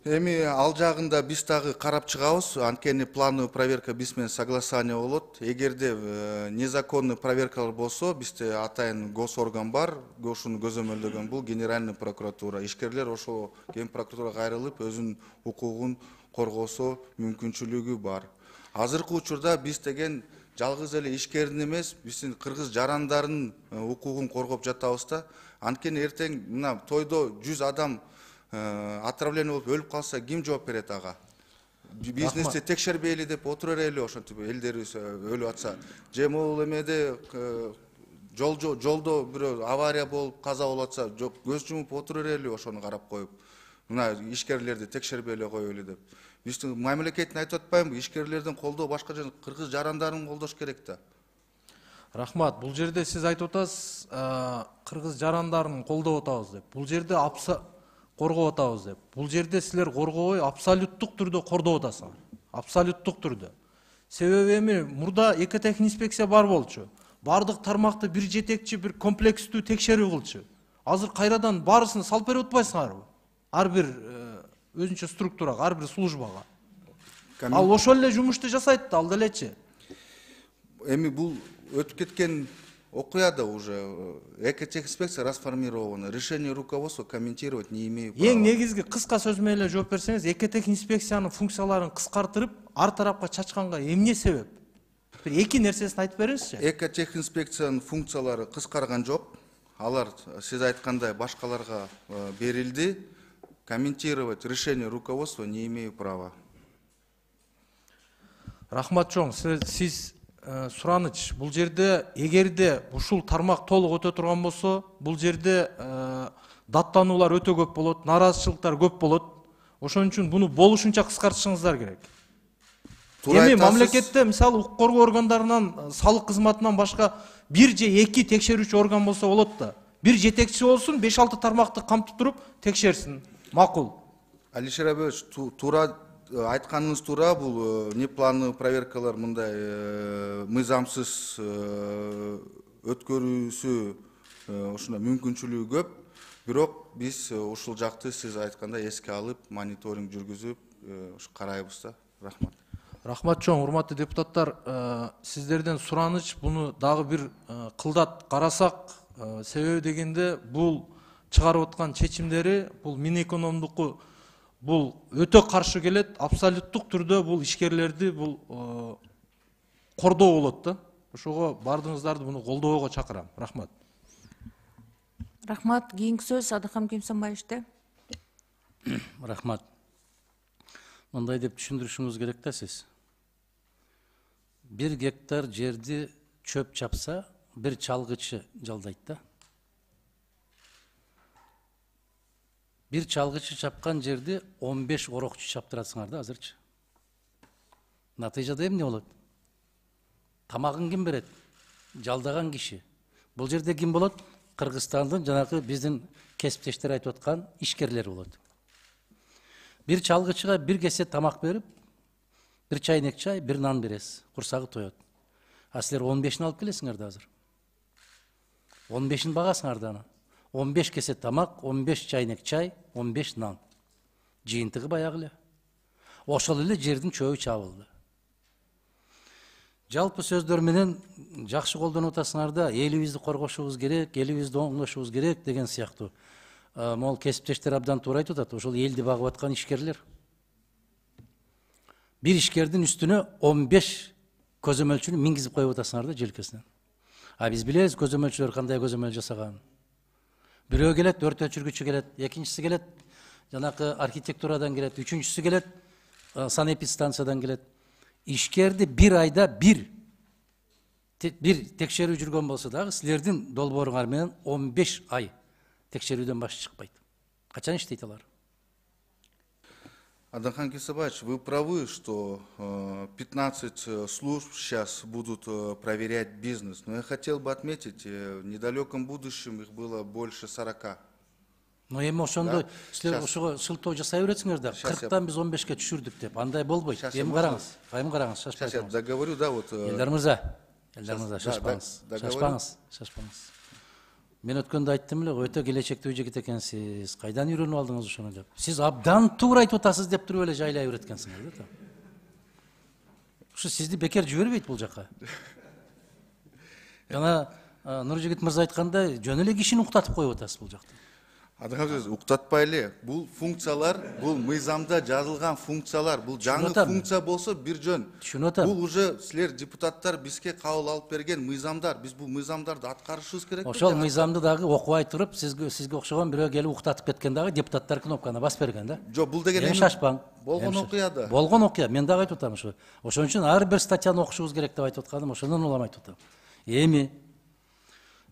Эми ал жагында биз дагы карап чыгабыз. Анткени плановый проверка биз менен согласование болот. Эгерде незаконный проверкалар болсо, бизде атайын госорган бар, ошону көзөмөлдөгөн бул Генеральный прокуратура. Ишкерлер ошол ген прокуратурага кайрылып, өзүнүн укугун коргосо мүмкүнчүлүгү бар. Азыркы учурда биз деген жалгыз эле ишкердин эмес, биздин кыргыз жарандардын укугун коргоп жатабыз да. Анткени эртең мына тойдо жүз адам отравление болуп өлүп калса, ким жооп берет ага? Бизнести текшербейли деп отура эле ошентип элдерибиз өлүп атса. Же могул эмеде жолдо бирөө авария болуп каза болуп атса, жок көз жумуп отура эле ошону карап коюп. Мына ишкерлерди текшербей эле коелу деп. Биздин мамлекеттин айтып атпаймынбы, ишкерлердин колдоо башка жана кыргыз жарандарын колдош керек да. Рахмат, бул жерде сиз айтып атасыз, кыргыз жарандарын колдоп атабыз деп. Бул жерде апса коргоп атабыз деп. Бул жерде силер коргобой абсолюттук түрдө кордоп атасыңар. Абсолюттук түрдө. Себеби эми мурда экотехинспекция бар болчу. Бардык тармакты бир жетекчи, бир комплекстүү текшерүү кылчу. Азыр кайрадан баарысын салып берип атпайсыңарбы? Ар бир өзүнчө структурага, ар бир службага. Ал ошол эле жумушту жасайт да, ал делечи. Эми бул өтүп кеткен окуя да уже. Экотехинспекция расформирована. Решение руководства комментировать не имею права. Эң негизги кыска сөз менен эле жооп берсеңиз, экотехинспекциянын функцияларын кыскартырып, ар тарапка чачканга эмне себеп? Бир эки нерсесин айтып бериңизчи. Экотехинспекциянын функциялары кыскарган жок. Алар сиз айткандай башкаларга берилди. Комментировать решение руководства не имею права. Рахмат чоң, сиз сураныч, бул жерде эгерде ушул тармак толук өтө турган болсо, бул жерде даттануулар өтө көп болот, нараазычылыктар көп болот. Ошон үчүн буну болушунча кыскартышыңыздар керек. Туура Эми айтасыз. мамлекетте мисалы укук коргоо органдарынан, салык кызматынан башка бир же эки текшерүүчү орган болсо болот да. Бир жетекчи болсун, беш алты тармакты камтып туруп текшерсин. Макул. Алишер Абенович, туура айтканыңыз туура, бул неплановый проверкалар мындай мыйзамсыз өткөрүүсү ушундай мүмкүнчүлүгү көп. Бирок биз ушул жакты сиз айткандай эске алып, мониторинг жүргүзүп, ушу карайбыз да. Рахмат. Рахмат чоң, урматтуу депутаттар, сиздерден сураныч буну дагы бир кылдат карасак, себеби дегенде бул чыгарып аткан чечимдери бул Минэкономдуку бул өтө каршы келет, абсолюттук түрдө бул ишкерлерди бул кордоо болот да. Ошого бардыгыңыздарды буну колдоого чакырам. Рахмат. Рахмат. Кийинки сөз Адыкам Кемсанбаевичте. Рахмат. Мындай деп түшүндүрүшүңүз керек да сиз. Бир гектар жерди чөп чапса, бир чалгычы жалдайт да. Бир чалгычы чапкан жерди он беш орокчу чаптырасыңар да азырчы. Натыйжада эмне болот? Тамагын ким берет? Жалдаган киши. Бул жерде ким болот? Кыргызстандын жанагы биздин кесиптештер айтып аткан ишкерлер болот. Бир чалгычыга бир кесе тамак берип, бир чайнек чай, бир нан бересиз. Курсагы тоет. А силер он бешин алып келесиңер да азыр. он бешин багасыңар да аны. он беш кесе тамак, он беш чайнек чай, он беш нан. Жыйынтыгы баягы эле. Ошол эле жердин чөбү чабылды. Жалпы сөздөр менен жакшы колдонуп атасыңар да, элибизди коргошубуз керек, элибизди оңдошубуз керек деген сыяктуу. Могул кесиптештер абдан туура айтып атат, ошол элди багып аткан ишкерлер. Бир ишкердин үстүнө он беш көзөмөлчүнү мингизип коюп атасыңар да желкесинен. А биз билебиз көзөмөлчүлөр кандай көзөмөл жасаганын. Бирөө келет, өрт өчүргүчү келет, экинчиси келет, жанакы архитектурадан келет, үчүнчүсү келет, санэпидстанциядан келет. Ишкерди бир айда бир бир текшерүү жүргөн болсо дагы силердин долбооруңар менен он беш ай текшерүүдөн башы чыкпайт. Качан иштейт алар? Адыкам Кемсанбаевич, вы правы, что пятнадцать служб сейчас будут проверять бизнес. Но я хотел бы отметить, в недалеком будущем их было больше сорока. Но эми ошондо силер ошого шылтоо жасай бересиңер да. кырктан биз он бешке түшүрдүк деп. Андай болбойт. Эми караңыз. Эми караңыз, шашпай. Сейчас я договорю, да, вот. Элдар мырза, Элдар мырза, шашпаңыз. Шашпаңыз, шашпаңыз. Мен өткөндө айттым эле, өтө келечектүү жигит экенсиз. Кайдан үйрөнүп алдыңыз ошону деп. Сиз абдан туура айтып атасыз деп туруп эле жайлай береткенсиңер да. Ушу сизди бекер жибербейт бул жака. Жана Нуржигит мырза айткандай, жөн эле кишини уктатып коюп атасыз бул жакта. Адыкам сөз, уктатпай эле. Бул функциялар, бул мыйзамда жазылган функциялар, бул жаңы функция болсо бир жөн. Түшүнүп атам. Бул уже силер депутаттар бизге кабыл алып берген мыйзамдар. Биз бул мыйзамдарды аткарышыбыз керек. Ошол мыйзамды дагы окубай туруп, сизге сизге окшогон бирөө келип уктатып кеткен дагы депутаттар кнопканы басып берген да. Жок, бул деген эми шашпаң. Болгон окуя да. Болгон окуя. Мен дагы айтып атам ушу. Ошон үчүн ар бир статьяны окушубуз керек деп айтып атканым, ошондон улам айтып атам. Эми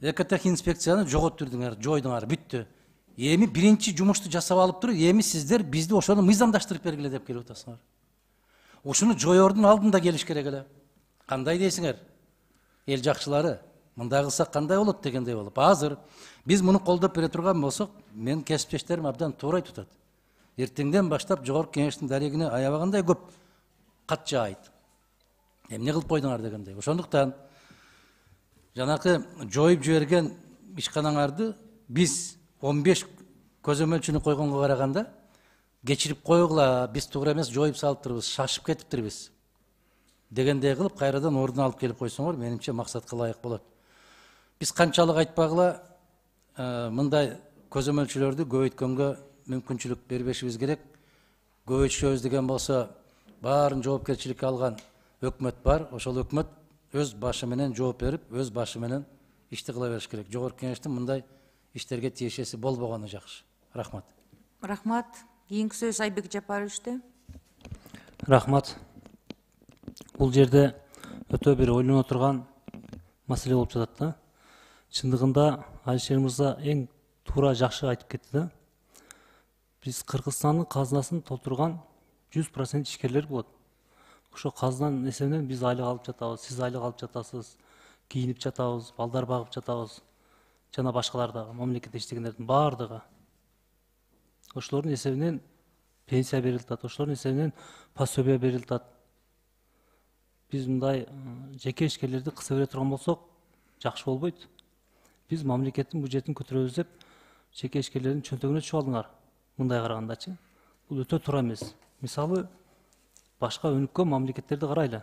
экотех инспекцияны жоготтурдуңар, жойдуңар, бүттү. Эми биринчи жумушту жасап алып туруп, эми сиздер бизди ошону мыйзамдаштырып бергиле деп келип атасыңар. Ушуну жоёрдун алдында келиш керек эле. Кандай дейсиңер? Эл жакчылары, мындай кылсак кандай болот дегендей болуп. Азыр биз муну колдоп бере турган болсок, мен кесиптештерим абдан туура айтып атат. Эртеңден баштап жогорку кеңештин дарегине аябагандай көп кат жаайт. Эмне кылып койдуңар дегендей. Ошондуктан жанакы жоюп жиберген ишканаңарды биз он беш көзөмөлчүнү койгонго караганда кечирип койгула, биз туура эмес жоюп салыптырбыз, шашып кетиптирбиз дегендей кылып кайрадан ордуна алып келип койсоңор, менимче максатка ылайык болот. Биз канчалык айтпагыла мындай көзөмөлчүлөрдү көбөйткөнгө мүмкүнчүлүк бербешибиз керек. Көбөйтүшөбүз деген болсо, баарын жоопкерчиликке алган өкмөт бар. Ошол өкмөт өз башы менен жооп берип, өз башы менен ишти кыла бериш керек. Жогорку кеңештин мындай иштерге тиешеси болбогону жакшы. Рахмат. Рахмат. Кийинки сөз Айбек Жапаровичте. Рахмат. Бул жерде өтө бир ойлоно турган маселе болуп жатат да. Чындыгында Алишер мырза эң туура жакшы айтып кетти да. Биз Кыргызстандын казынасын толтурган жүз процент ишкерлер болот. Ошо казынанын эсебинен биз айлык алып жатабыз, сиз айлык алып жатасыз, кийинип жатабыз, балдар багып жатабыз, жана башкалар дагы мамлекетте иштегендердин баардыгы. Ошолордун эсебинен пенсия берилип атат, ошолордун эсебинен пособие берилип атат. Биз мындай жеке ишкерлерди кыса бере турган болсок, жакшы болбойт. Биз мамлекеттин бюджетин көтөрөбүз деп жеке ишкерлердин чөнтөгүнө түшүп алдыңар. Мындай карагандачы, бул өтө туура эмес. Мисалы, башка өнүккөн мамлекеттерди карайлы.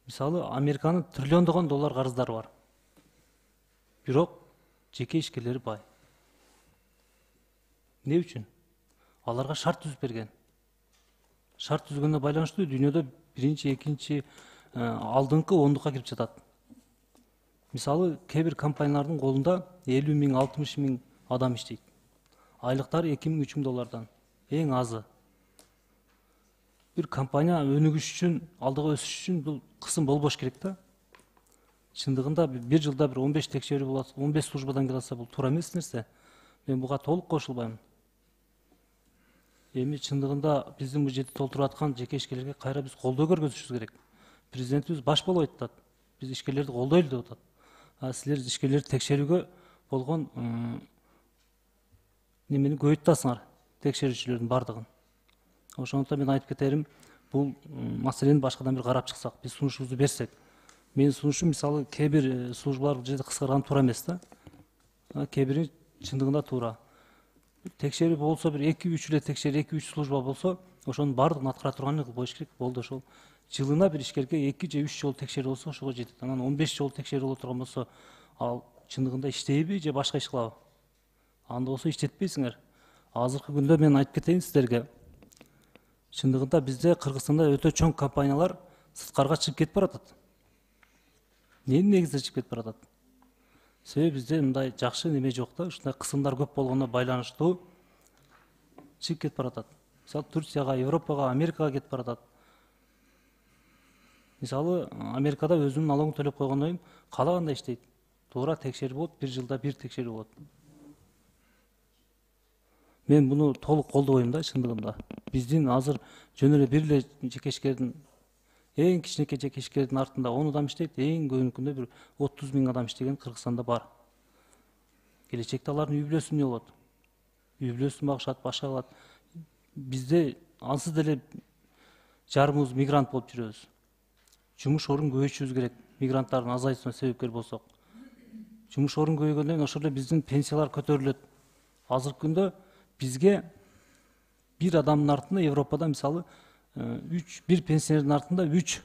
Мисалы, Американын триллиондогон доллар карыздары бар. Бирок жеке ишкерлери бай. Не үчүн? Аларга шарт түзүп берген. Шарт түзгөнүнө байланыштуу дүйнөдө биринчи, экинчи, алдыңкы ондукка кирип жатат. Мисалы, кээ бир компаниялардын колунда элүү миң, алтымыш миң адам иштейт. Айлыктары эки миң, үч миң доллардан. Эң азы. Бир компания өнүгүш үчүн, алдыга өсүш үчүн бул кысым болбош керек да. Чындыгында бир жылда бир он беш текшерүү болот, он беш службадан келсе бул туура эмес нерсе. Мен буга толук кошулбайм. Эми чындыгында биздин бюджетти толтуруп аткан жеке ишкерлерге кайра биз колдоо көргөзүшүбүз керек. Президентибиз баш болуп айтат. Биз ишкерлерди колдойлу деп атат. А силер ишкерлерди текшерүүгө болгон немени көбөйтүп атасыңар, текшерүүчүлөрдүн бардыгын. Ошондуктан мен айтып кетерим, бул маселени башкадан бир карап чыксак, биз сунушубузду берсек. Менин сунушум мисалы кээ бир службалар бул жерде кыскарган туура эмес да. Кээ бири чындыгында туура. Текшерүү болсо бир эки үч эле текшерүү, эки үч служба болсо, ошонун баардыгын аткара турган болуш керек. Болду ошол. Жылына бир ишкерге эки же үч жолу текшерүү болсо ошого жетет. Анан он беш жолу текшерүү боло турган болсо, ал чындыгында иштейби же башка иш кылабы? Анда болсо иштетпейсиңер. Азыркы күндө мен айтып кетейин сиздерге. Чындыгында бизде Кыргызстанда өтө чоң компаниялар сырткарга чыгып кетип баратат. Эмне негизде чыгып кетип баратат? Себеби бизде мындай жакшы неме жок да, ушундай кысымдар көп болгондо байланыштуу чыгып кетип баратат. Мисалы Турцияга, Европага, Америкага кетип баратат. Мисалы Америкада өзүнүн налогун төлөп койгондон кийин каалагандай иштейт. Туура текшерүү болот, бир жылда бир текшерүү болот. Мен буну толук колдобойм да чындыгында. Биздин азыр жөн эле бир эле жеке ишкердин, эң кичинекей жеке ишкердин артында он адам иштейт, эң көбүнкүндө бир отуз миң адам иштеген Кыргызстанда бар. Келечекте алардын үй бүлөсү эмне болот? Үй бүлөсүн багышат, башка кылат. Бизде ансыз деле жарымыбыз мигрант болуп жүрөбүз. Жумуш орун көбөйтүшүбүз керек, мигранттардын азайышына себепкер болсок. Жумуш орун көбөйгөндөн кийин ошол эле биздин пенсиялар көтөрүлөт. Азыркы күндө бизге бир адамдын артында Европада мисалы үч бир пенсионердин артында үч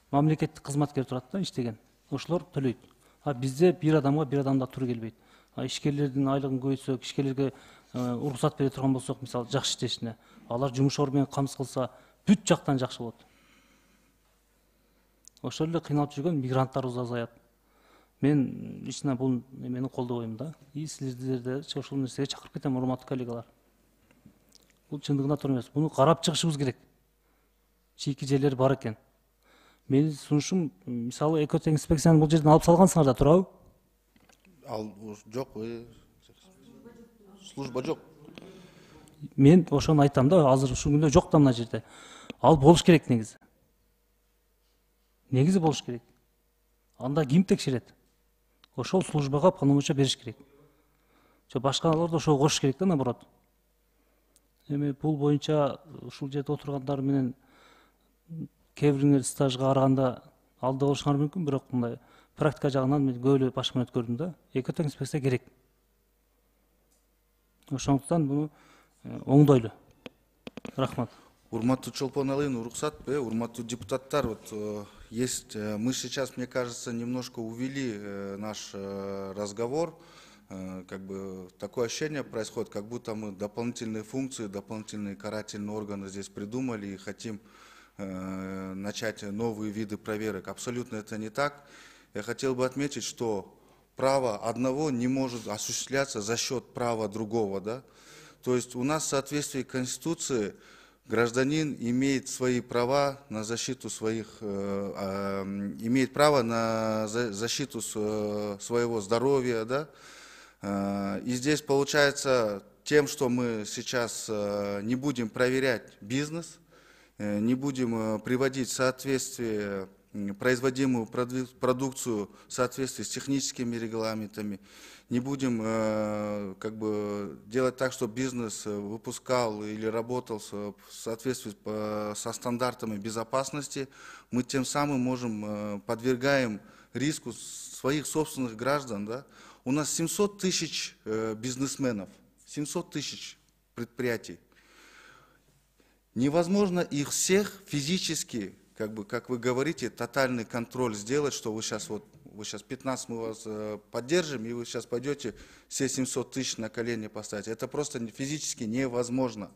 мамлекеттик кызматкер турат да, иштеген. Ошолор төлөйт. А бизде бир адамга бир адамда туура келбейт. А ишкерлердин айлыгын көбөйтсөк, ишкерлерге уруксат бере турган болсок, мисалы жакшы иштешине, алар жумуш орду менен камсыз кылса, бүт жактан жакшы болот. Ошол эле кыйналып жүргөн мигранттарыбыз азаят. Мен ичине бул эмени колдобойм да. И силерди ошол нерсеге чакырып кетем, урматтуу коллегалар. Бул чындыгында туура эмес. Буну карап чыгышыбыз керек. Чийки жерлери бар экен. Менин сунушум, мисалы экоинспекцияны бул жерден алып салгансыңар да, туурабы? Ал жок, служба жок. Мен ошону айтам да, азыр ушул күндө жок да мына жерде. Ал болуш керек негизи. Негизи болуш керек. Анда ким текшерет? Ошол службага полномочия бериш керек. Жо башкаларды ошого кошуш керек да, наоборот. Эми бул боюнча ушул жерде отургандар менен кээ бириңер стажга караганда алда болушуңар мүмкүн, бирок мындай практика жагынан мен көп эле башкы менен өткөрдүм да. Экоинспекция керек. Ошондуктан буну оңдойлу. Рахмат. Урматтуу Чолпон Алыйын, уруксат, урматтуу депутаттар, вот есть, мы сейчас, мне кажется, немножко увели наш разговор, как бы такое ощущение происходит, как будто мы дополнительные функции, дополнительные карательные органы здесь придумали и хотим начать новые виды проверок. Абсолютно это не так. Я хотел бы отметить, что право одного не может осуществляться за счет права другого, да? То есть у нас в соответствии с Конституцией гражданин имеет свои права на защиту своих, э, э, имеет право на защиту своего здоровья, да, И здесь получается тем, что мы сейчас не будем проверять бизнес, не будем приводить в соответствие производимую продукцию в соответствии с техническими регламентами, не будем как бы делать так, чтобы бизнес выпускал или работал в соответствии со стандартами безопасности, мы тем самым можем подвергаем риску своих собственных граждан. Да? У нас семьсот тысяч бизнесменов, семьсот тысяч предприятий. Невозможно их всех физически, как бы, как вы говорите, тотальный контроль сделать, что вы сейчас вот, вы сейчас пятнадцать мы вас э, поддержим, и вы сейчас пойдете все семьсот тысяч на колени поставить. Это просто физически невозможно.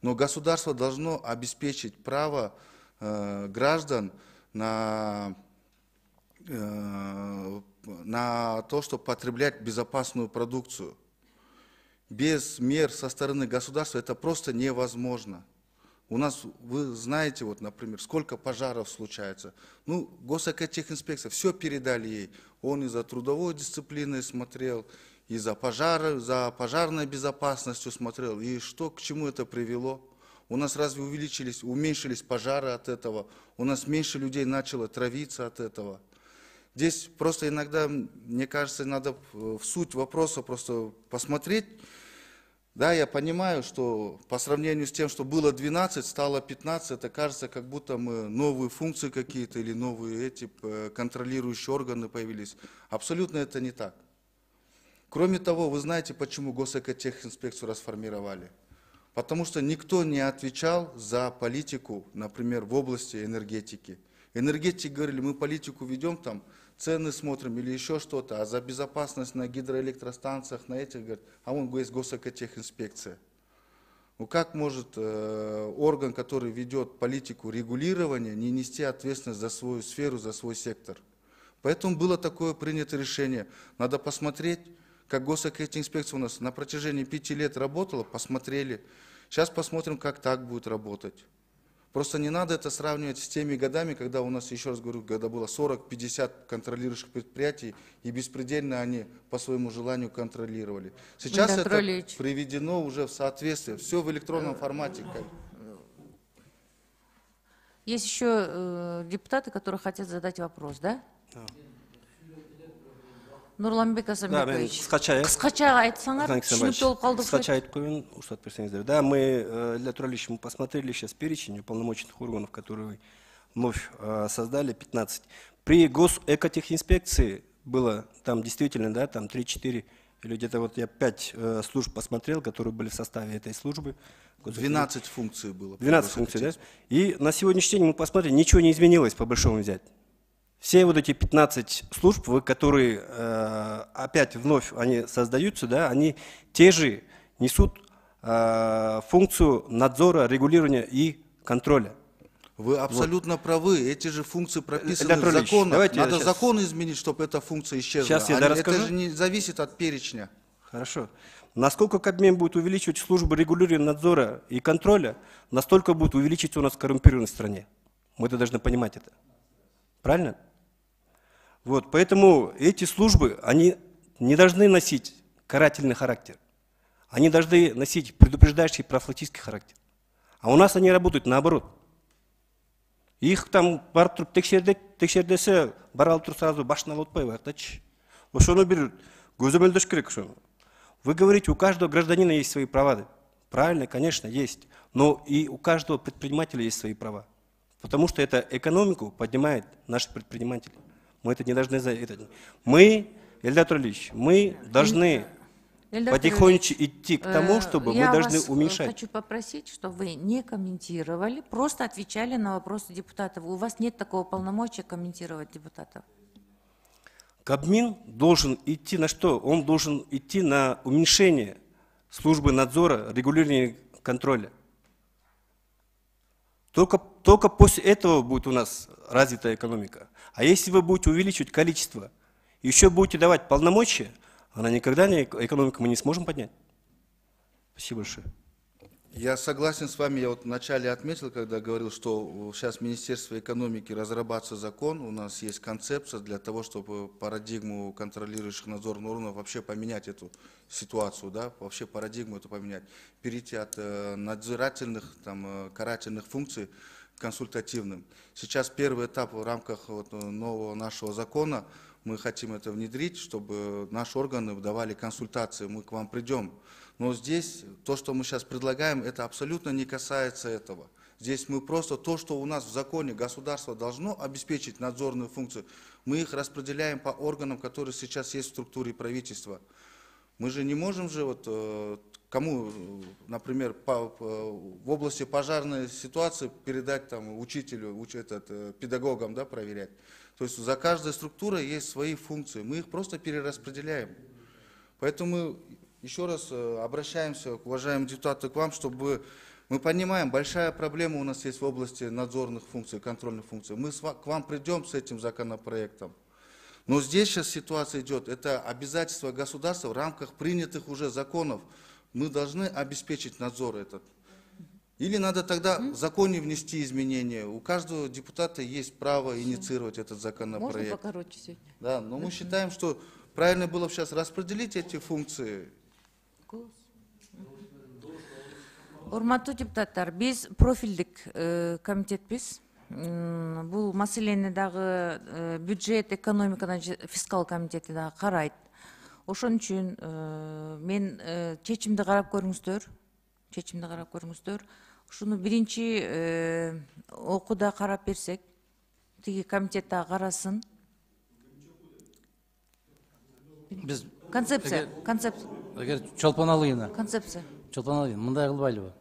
Но государство должно обеспечить право э, граждан на, э, на то, чтобы потреблять безопасную продукцию. Без мер со стороны государства это просто невозможно. У нас, вы знаете, вот, например, сколько пожаров случается. Ну, госэкотехинспекция, все передали ей. Он и за трудовой дисциплиной смотрел, и за пожары, за пожарной безопасностью смотрел. И что, к чему это привело? У нас разве увеличились, уменьшились пожары от этого? У нас меньше людей начало травиться от этого? Здесь просто иногда, мне кажется, надо в суть вопроса просто посмотреть. Да, я понимаю, что по сравнению с тем, что было двенадцать, стало пятнадцать, это кажется, как будто мы новые функции какие-то или новые эти контролирующие органы появились. Абсолютно это не так. Кроме того, вы знаете, почему госэкотехинспекцию расформировали? Потому что никто не отвечал за политику, например, в области энергетики. Энергетики говорили, мы политику ведем там, цены смотрим или еще что-то, а за безопасность на гидроэлектростанциях, на этих, говорят, а вон есть госэкотехинспекция. Ну как может э, орган, который ведет политику регулирования, не нести ответственность за свою сферу, за свой сектор? Поэтому было такое принято решение. Надо посмотреть, как госэкотехинспекция у нас на протяжении пяти лет работала, посмотрели. Сейчас посмотрим, как так будет работать. Просто не надо это сравнивать с теми годами, когда у нас, еще раз говорю, когда было сорок-пятьдесят контролирующих предприятий, и беспредельно они по своему желанию контролировали. Сейчас это приведено уже в соответствие, все в электронном формате. Есть еще э, депутаты, которые хотят задать вопрос, да? Да. Нурланбек Асамбекович, кыскача айтсаңар, түшүнүп толуп калдык. Кыскача айтып коеюн, уруксат берсеңиздер. Да, мы, Илья Туралевич, мы посмотрели сейчас перечень уполномоченных органов, которые вы вновь создали, пятнадцать. При госэкотехинспекции было там действительно, да, там три-четыре, или где-то вот я пять служб посмотрел, которые были в составе этой службы. двенадцать функций было. двенадцать функций, да. И на сегодняшний день мы посмотрели, ничего не изменилось, по большому взять. Все вот эти пятнадцать служб, которые э, опять вновь они создаются, да, они те же несут э, функцию надзора, регулирования и контроля. Вы абсолютно вот правы. Эти же функции прописаны в законах. Надо сейчас... закон изменить, чтобы эта функция исчезла. Сейчас я они, расскажу. Это же не зависит от перечня. Хорошо. Насколько Кабмин будет увеличивать службы регулирования, надзора и контроля, настолько будет увеличиваться у нас коррумпированность в стране. Мы это должны понимать это. Правильно? Вот, поэтому эти службы, они не должны носить карательный характер. Они должны носить предупреждающий профилактический характер. А у нас они работают наоборот. Их там бар туруп текшердесе, бара алып туруп сразу башын алып атпайбы, айтачы. Ошону бир көзөмөлдөш керек ошону. Вы говорите, у каждого гражданина есть свои права. Правильно, конечно, есть. Но и у каждого предпринимателя есть свои права. Потому что это экономику поднимает наши предприниматели. Мы это не должны... Мы, Ильдар Туралевич, мы должны потихонечку идти к тому, чтобы мы должны уменьшать. Я вас хочу попросить, чтобы вы не комментировали, просто отвечали на вопросы депутатов. У вас нет такого полномочия комментировать депутатов. Кабмин должен идти на что? Он должен идти на уменьшение службы надзора, регулирования, контроля. Только, только после этого будет у нас развитая экономика. А если вы будете увеличивать количество, еще будете давать полномочия, она никогда не, экономику мы не сможем поднять. Спасибо большое. Я согласен с вами. Я вот вначале отметил, когда говорил, что сейчас в Министерстве экономики разрабатывается закон, у нас есть концепция для того, чтобы парадигму контролирующих надзорных органов вообще поменять эту ситуацию, да, вообще парадигму эту поменять, перейти от э, надзирательных, там, э, карательных функций к консультативным. Сейчас первый этап в рамках вот, нового нашего закона, мы хотим это внедрить, чтобы наши органы давали консультации, мы к вам придем. Но здесь то, что мы сейчас предлагаем, это абсолютно не касается этого. Здесь мы просто то, что у нас в законе государство должно обеспечить надзорные функции, мы их распределяем по органам, которые сейчас есть в структуре правительства. Мы же не можем же вот кому, например, по, по, в области пожарной ситуации передать там учителю, уч, этот, педагогам, да, проверять. То есть за каждой структурой есть свои функции, мы их просто перераспределяем. Поэтому еще раз обращаемся, уважаемые депутаты, к вам, чтобы мы понимаем, большая проблема у нас есть в области надзорных функций, контрольных функций. Мы к вам придем с этим законопроектом. Но здесь сейчас ситуация идет, это обязательство государства в рамках принятых уже законов. Мы должны обеспечить надзор этот. Или надо тогда в законе внести изменения. У каждого депутата есть право инициировать этот законопроект. Можно покороче сегодня? Да, но мы считаем, что правильно было бы сейчас распределить эти функции. Урматтуу депутаттар, биз профилдик комитетпиз. Бул маселени дагы бюджет, экономика, фискал комитети дагы карайт. Ошон үчүн мен чечимди карап көрүңүздөр, чечимди карап көрүңүздөр. Ушуну биринчи окууда карап берсек, тиги комитет дагы карасын. Биз концепция, концепция. Эгер Чолпон Алыйына. Концепция. Чолпон Алыйына, мындай кылбайлыбы?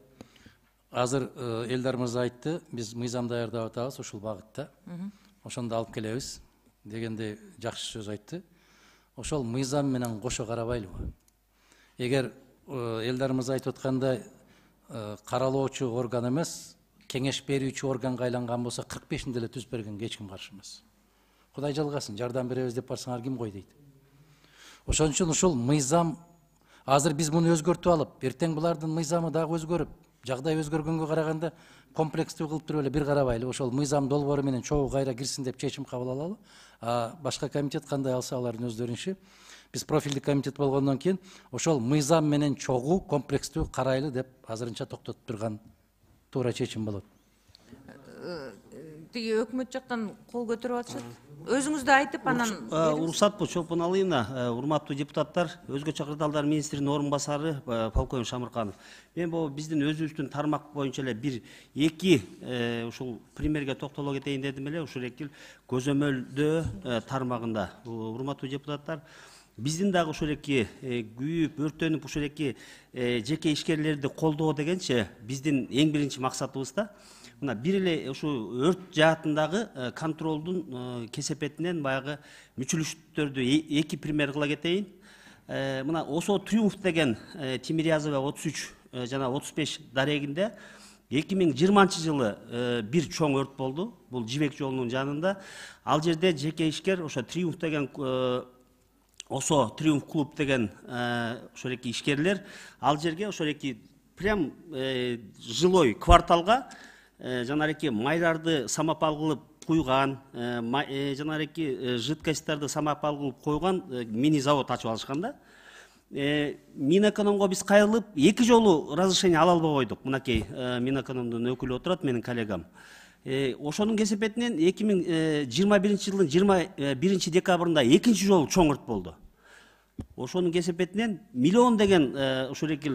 Азыр Элдар мырза айтты, биз мыйзам даярдап атабыз ушул багытта. Ошондо алып келебиз дегенде жакшы сөз айтты. Ошол мыйзам менен кошо карабайлыбы? Эгер Элдар мырза айтып аткандай каралоочу орган эмес, кеңеш берүүчү органга айланган болсо кырк бешинде эле түзүп бергенге эч ким каршы эмес. Кудай жалгасын, жардам беребиз деп барсаңар ким кой дейт. Ошон үчүн ушул мыйзам азыр биз муну өзгөртүп алып, эртең булардын мыйзамы дагы өзгөрүп, жагдай өзгөргөнгө караганда комплекстүү кылып туруп эле бир карабайлы, ошол мыйзам долбоору менен чогуу кайра кирсин деп чечим кабыл алалы. А башка комитет кандай алса алардын өздөрүнүн иши. Биз профилдик комитет болгондон кийин ошол мыйзам менен чогуу комплекстүү карайлы деп азырынча токтотуп турган туура чечим болот. Тиги өкмөт жактан кол көтөрүп атышат. Өзүңүз да айтып анан уруксат бул Чолпон Алыйына, урматтуу депутаттар, өзгөчө кырдаалдар министринин орун басары полковник Шамырканов. Мен бул биздин өзүбүздүн тармак боюнча эле бир эки ушул примерге токтоло кетейин дедим эле, ушул эки көзөмөлдөө тармагында. Урматтуу депутаттар, биздин дагы ушул эки күйүп, өрттөнүп ушул эки жеке ишкерлерди колдоо дегенче биздин эң биринчи максатыбыз да мына бир эле ушу өрт жаатындагы контролдун кесепетинен баягы мүчүлүштөрдү эки пример кыла кетейин. Мына Осо Триумф деген Тимирязева отуз үч жана отуз беш дарегинде эки миң жыйырманчы жылы бир чоң өрт болду. Бул Жибек жолунун жанында. Ал жерде жеке ишкер ошо Триумф деген Осо Триумф клуб деген ошол эки ишкерлер ал жерге ошол эки прям жилой кварталга жанареки майларды самопал кылып куйган, жанареки жидкостьтарды самопал кылып койгон мини завод ачып алышкан да. Минэкономго биз кайрылып эки жолу разрешение ала албай койдук. Мынакей Минэкономдун өкүлү отурат, менин коллегам. Ошонун кесепетинен эки миң жыйырма биринчи жылдын жыйырма биринчи декабрында экинчи жолу чоң өрт болду. Ошонун кесепетинен миллион деген ошол эки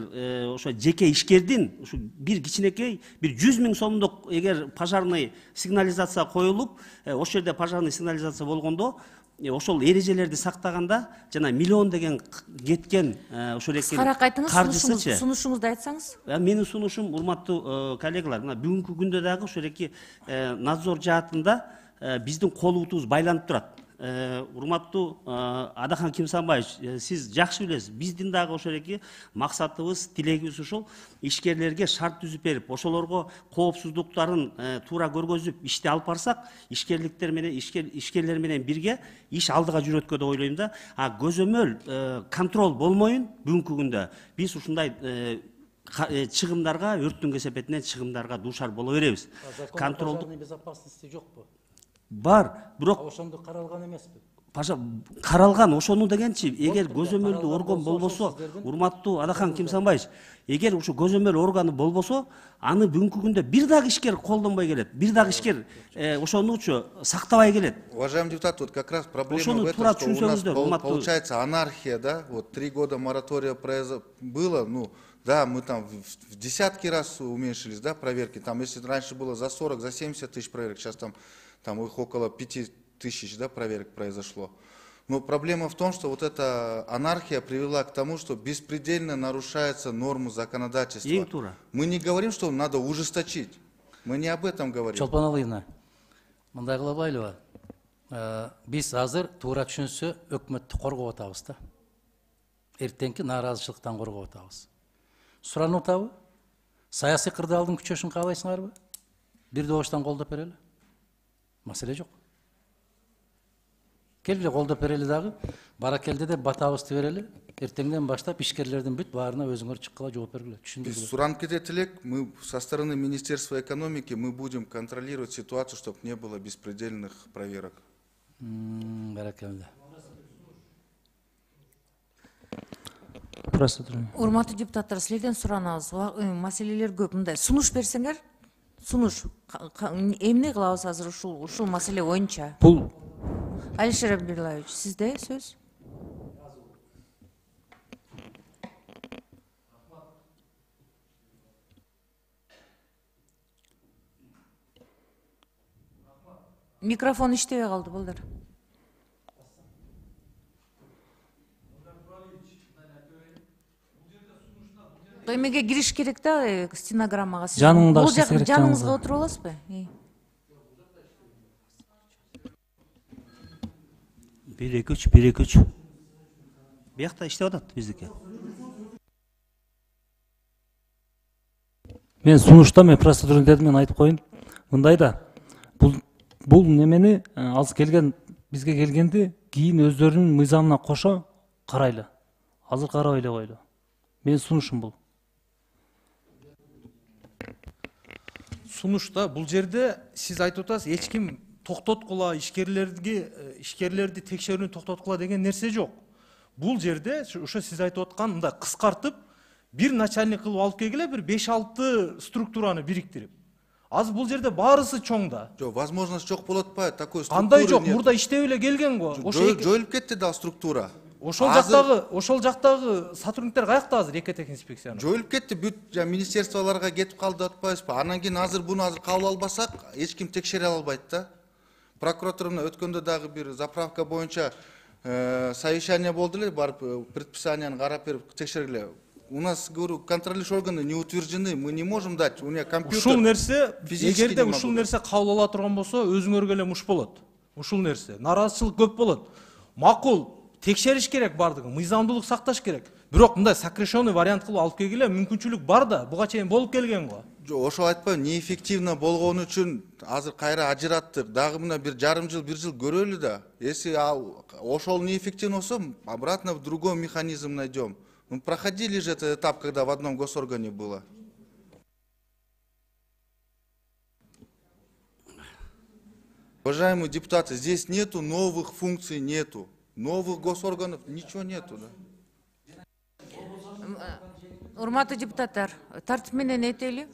ошо жеке ишкердин ушу бир кичинекей бир жүз миң сомдук эгер пожарный сигнализация коюлуп, ошол жерде пожарный сигнализация болгондо ошол эрежелерди сактаганда жана миллион деген кеткен ошол эки кыскараак айтыңыз, каржысычы. сунушуңузду айтсаңыз. Менин сунушум, урматтуу коллегалар, мына бүгүнкү күндө дагы ошол эки надзор жаатында биздин колубутубуз байланып турат. Урматтуу Адахан Кимсанбаевич, сиз жакшы билесиз, биздин дагы ошол эки максатыбыз, тилегибиз ушул ишкерлерге шарт түзүп берип, ошолорго коопсуздуктарын туура көргөзүп ишти алып барсак, ишкерликтер менен ишкерлер менен бирге иш алдыга жүрөткө деп ойлойм да. А көзөмөл контроль болмоюн бүгүнкү күндө биз ушундай чыгымдарга, өрттүн кесепетинен чыгымдарга дуушар боло беребиз. Контролдук безопасности жокпу? Бар, бирок Ошондо каралган эмеспи? Паша, каралган ошону дегенчи, эгер көзөмөлдүү орган болбосо, урматтуу Адахан Кимсанбаевич, эгер ушу көзөмөл органы болбосо, аны бүгүнкү күндө бир дагы ишкер колдонбой келет, бир дагы ишкер ошонучу сактабай келет. Уважаемый депутат, вот как раз проблема Ошону в этом, туура что у нас түшүнсөңүздөр, пол- урматтуу. получается анархия, да, вот три года моратория произо- было, ну, да, мы там в в десятки раз уменьшились, да, проверки, там, если раньше было за сорок, за семьдесят тысяч проверок, сейчас там, там их около пяти тысяч, да, проверок произошло. Но проблема в том, что вот эта анархия привела к тому, что беспредельно нарушаются нормы законодательства. Ең туура. Мы не говорим, что надо ужесточить. Мы не об этом говорим. Чолпон Алыйна, мындай кылабайлыбы? Биз азыр туура түшүнсө өкмөттү коргоп атабыз да. Эртеңки нааразычылыктан коргоп атабыз. Суранып атабы? Саясий кырдаалдын күчөшүн каалайсыңарбы? Бир добуштан колдоп берели. Маселе жок. Келгиле колдоп берели дагы, баракелде деп батабызды берели. Эртеңден баштап ишкерлердин бүт баарына өзүңөр чыккыла жооп бергиле. Без Түшүндүргүлө. суранып кетет элек, мы со стороны Министерства экономики мы будем контролировать ситуацию, чтобы не было беспредельных проверок. М, Баракелде. Урматтуу депутаттар, силерден суранабыз. Маселелер көп. Мындай сунуш берсеңер, сунуш эмне кылабыз азыр ушул ушул маселе боюнча? Бул Алишер Абдуллаевич, сизде сөз? Микрофон иштебей калды, балдар. Эмеге кириш керек да, стенограммага. Сиз Жаныңда бул иштесе жак- керек, жаныңызга жаныңызда. отуруп аласызбы? бир эки үч, бир эки үч. Биякта иштеп атат биздики. мен сунушта мен процедура дедим, мен айтып коеюн. Мындай да, бул бул немени азыр келген бизге келгенди кийин өздөрүнүн мыйзамына кошо карайлы. Азыр карабай эле койлу. Мен сунушум бул. Сунушта бул жерде сиз айтып атасыз, эч ким токтоткула, ишкерлерди ишкерлерди текшерүүнү токтоткула деген нерсе жок. Бул жерде ошо сиз айтып аткан мындай кыскартып бир начальник кылып алып келгиле, бир беш алты структураны бириктирип. Азыр бул жерде баарысы чоң да. Жок, возможность жок болуп атпайбы, такой структуры. Кандай жок, нет. мурда иштеп эле келген го. Ошо Жой- эки- жоюлуп кетти да структура. ошол Азыр жактагы, ошол жактагы сотрудниктер каякта азыр экотех инспекциянын? жоюлуп кетти, бүт жа министерстволорго кетип калды деп атпайбызбы? Анан кийин азыр буну азыр кабыл албасак, эч ким текшере албайт да. Прокуратурана өткөндө дагы бир заправка боюнча э, совещание болду эле, барып э, предписанияны карап берип текшергиле. У нас, говорю, контролирующие органы не утверждены, мы не можем дать, у меня компьютер. Ушул нерсе, физически эгерде не ушул могу. нерсе кабыл ала турган болсо, өзүңөргө эле муш болот. Ушул нерсе, нааразычылык көп болот. Макул, текшериш керек бардыгын, мыйзамдуулук сакташ керек. Бирок мындай сокращенный вариант кылып алып келгиле, мүмкүнчүлүк бар да, буга чейин болуп келген го. Жок, ошол айтпайм, неэффективно болгону үчүн азыр кайра ажыраттык. Дагы мына бир жарым жыл, бир жыл көрөлү да. Если ал- ошол неэффективно болсо, обратно в другой механизм найдем. Ну, проходили же этот этап, когда в одном госоргане было. Уважаемые депутаты, здесь нету новых функций, нету. Новых госорганов, ничего нету. Да? Урматтуу депутаттар, тартип менен этели.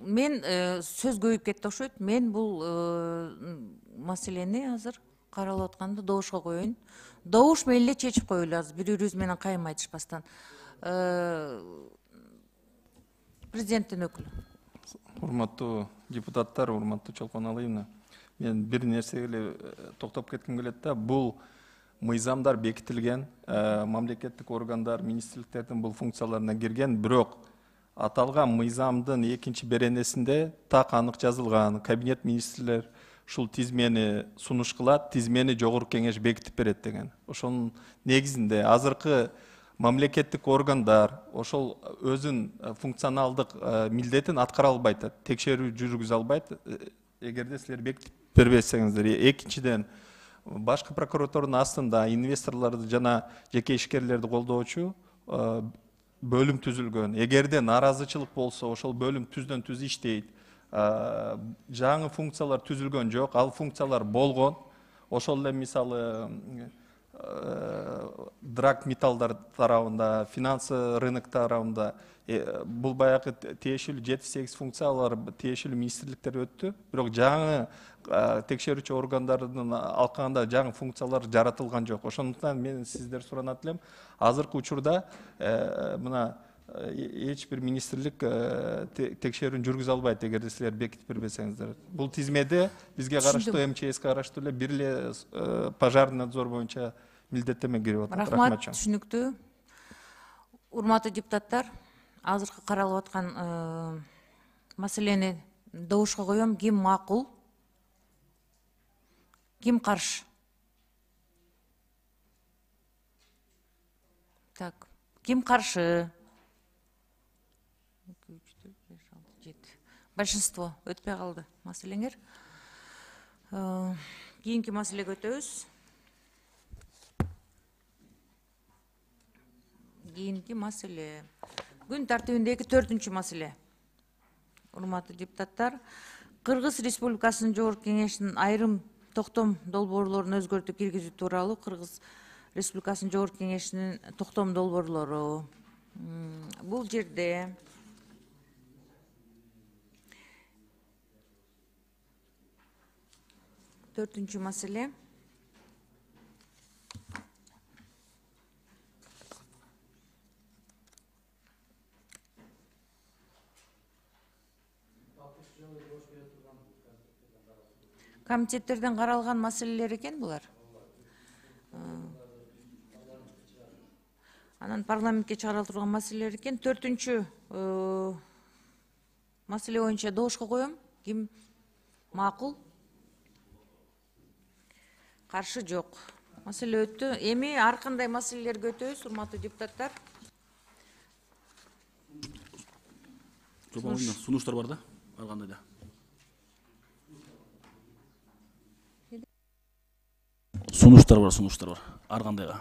Мен э, сөз көбөйүп кетти окшойт. Мен бул э, маселени азыр каралып атканды добушка коеюн. Добуш менен эле чечип коелу азыр, бири бирибиз менен кайым айтышпастан. Э, Президенттин өкүлү. Урматтуу депутаттар, урматтуу Чолпон Алыйна, мен бир нерсеге эле токтоп кетким келет да. Бул мыйзамдар бекитилген, мамлекеттик органдар, министрликтердин бул функцияларына кирген, бирок аталган мыйзамдын экинчи беренесинде так анык жазылган, кабинет министрлер ушул тизмени сунуш кылат, тизмени жогорку кеңеш бекитип берет деген. Ошонун негизинде азыркы мамлекеттик органдар ошол өзүн функционалдык милдетин аткара албайт, текшерүү жүргүзө албайт, эгерде силер бекитип бербесеңиздер. Экинчиден, башкы прокуратуранын астында инвесторлорду жана жеке ишкерлерди колдоочу бөлүм түзүлгөн. Эгерде нааразычылык болсо, ошол бөлүм түздөн түз иштейт. Жаңы функциялар түзүлгөн жок, ал функциялар болгон. Ошол эле мисалы драг металлдар тарабында, финансы рынок тарабында бул баягы тиешелүү жети сегиз функциялар тиешелүү министрликтер өттү. Бирок жаңы текшерүүчү органдардын алкагында жаңы функциялар жаратылган жок. Ошондуктан мен сиздер суранат элем, азыркы учурда мына эч бир министрлик текшерүүнү жүргүзө албайт, эгерде силер бекитип бербесеңиздер. Бул тизмеде бизге караштуу, эм че эске караштуу эле бир эле пожарный надзор боюнча милдеттенме кирип атат. Рахмат, түшүнүктүү. Урматтуу депутаттар, азыркы каралып аткан маселени добушка коем. Ким макул? Ким каршы? Так, ким каршы? Большинство өтпөй калды маселеңер. Кийинки маселеге өтөбүз. Кийинки маселе. Күн тартибиндеги төртүнчү маселе. Урматтуу депутаттар, Кыргыз Республикасынын Жогорку Кеңешинин айрым токтом долбоорлорун өзгөртүү киргизүү тууралуу Кыргыз Республикасынын Жогорку Кеңешинин токтом долбоорлору. Бул жерде төртүнчү маселе. Комитеттерден каралган маселелер экен булар. Анан парламентке чыгарыла турган маселелер экен. Төртүнчү маселе боюнча добушка коем. Ким макул? Каршы жок. Маселе өттү. Эми ар кандай маселелерге өтөбүз, урматтуу депутаттар. Сунуштар бар да, ар кандай да. Сунуштар бар, сунуштар бар, ар кандайга.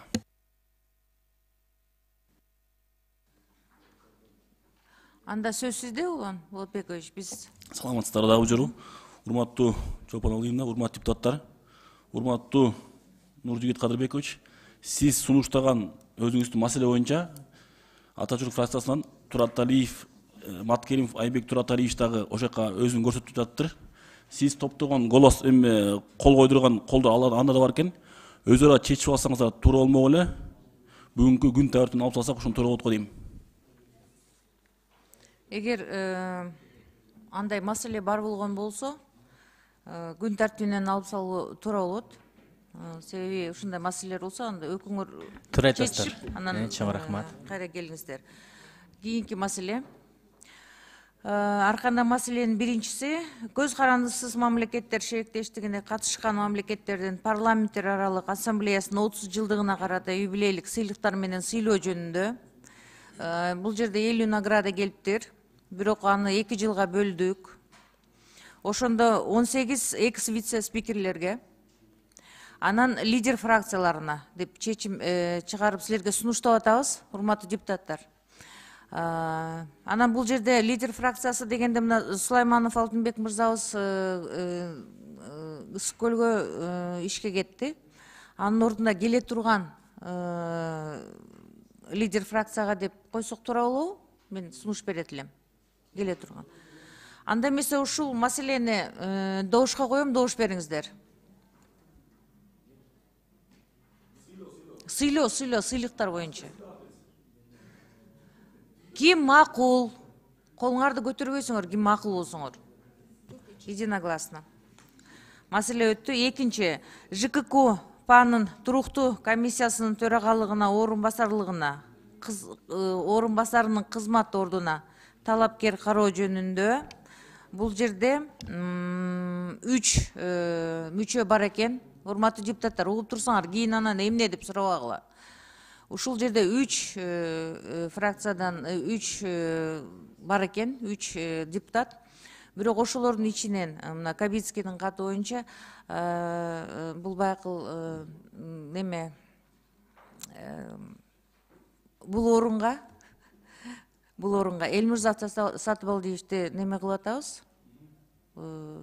Анда сөз сизде, Улан Болотбекович, биз. Саламатсыздар дагы жору. Урматтуу Чолпон Алыевна, урматтуу депутаттар. Урматтуу Нуржигит Кадырбекович, сиз сунуштаган өзүңүздүн маселе боюнча Атачурк фракциясынан Турат Алиев, Маткеримов Айбек Турат Алиевич дагы ошол жака өзүн көрсөтүп жатыптыр. Сиз топтогон голос эми кол койдурган колдор анда да бар экен. Өзара чечип алсаңыздар туура болмок эле. Бүгүнкү күн тартибин алып салсак ошону туура болот го дейм. Эгер андай маселе бар болгон болсо, күн тартибинен алып салуу туура болот. Себеби ушундай маселелер болсо, анда өкүңөр чечип, анан кайра келиңиздер. Кийинки маселе. Ар кандай маселенин биринчиси, көз карандысыз мамлекеттер шериктештигине катышкан мамлекеттердин парламенттер аралык ассамблеясынын отуз жылдыгына карата юбилейлик сыйлыктар менен сыйлоо жөнүндө. Бул жерде элүү награда келиптир, бирок аны эки жылга бөлдүк. Ошондо он сегиз экс вице спикерлерге, анан лидер фракцияларына деп чечим чыгарып силерге сунуштап атабыз, урматтуу депутаттар. Анан бул жерде лидер фракциясы дегенде мына Сулайманов Алтынбек мырзабыз Ысык көлгө ишке кетти. Анын ордуна келе турган лидер фракцияга деп койсок туура болобу? Мен сунуш берет элем. Келе турган. Анда эмесе ушул маселени добушка коем, добуш бериңиздер. Сыйлоо, сыйлоо, сыйлыктар боюнча. Ким макул? Колуңарды көтөрбөйсүңөр, ким макул болсоңор. Единогласно. Маселе өттү. Экинчи, Ж К К Панын туруктуу комиссиясынын төрагалыгына, орун басарлыгына, орун басарынын кызмат ордуна талапкер кароо жөнүндө. Бул жерде үч мүчө бар экен. Урматтуу депутаттар, угуп турсаңар, кийин анан эмне деп сурабагыла. Ушул жерде үч фракциядан үч бар экен, үч депутат. Бирок ошолордун ичинен мына Кабицкийдин каты боюнча бул баягы неме бул орунга бул орунга Элмирза Сатыбалдиевичти неме кылып атабыз,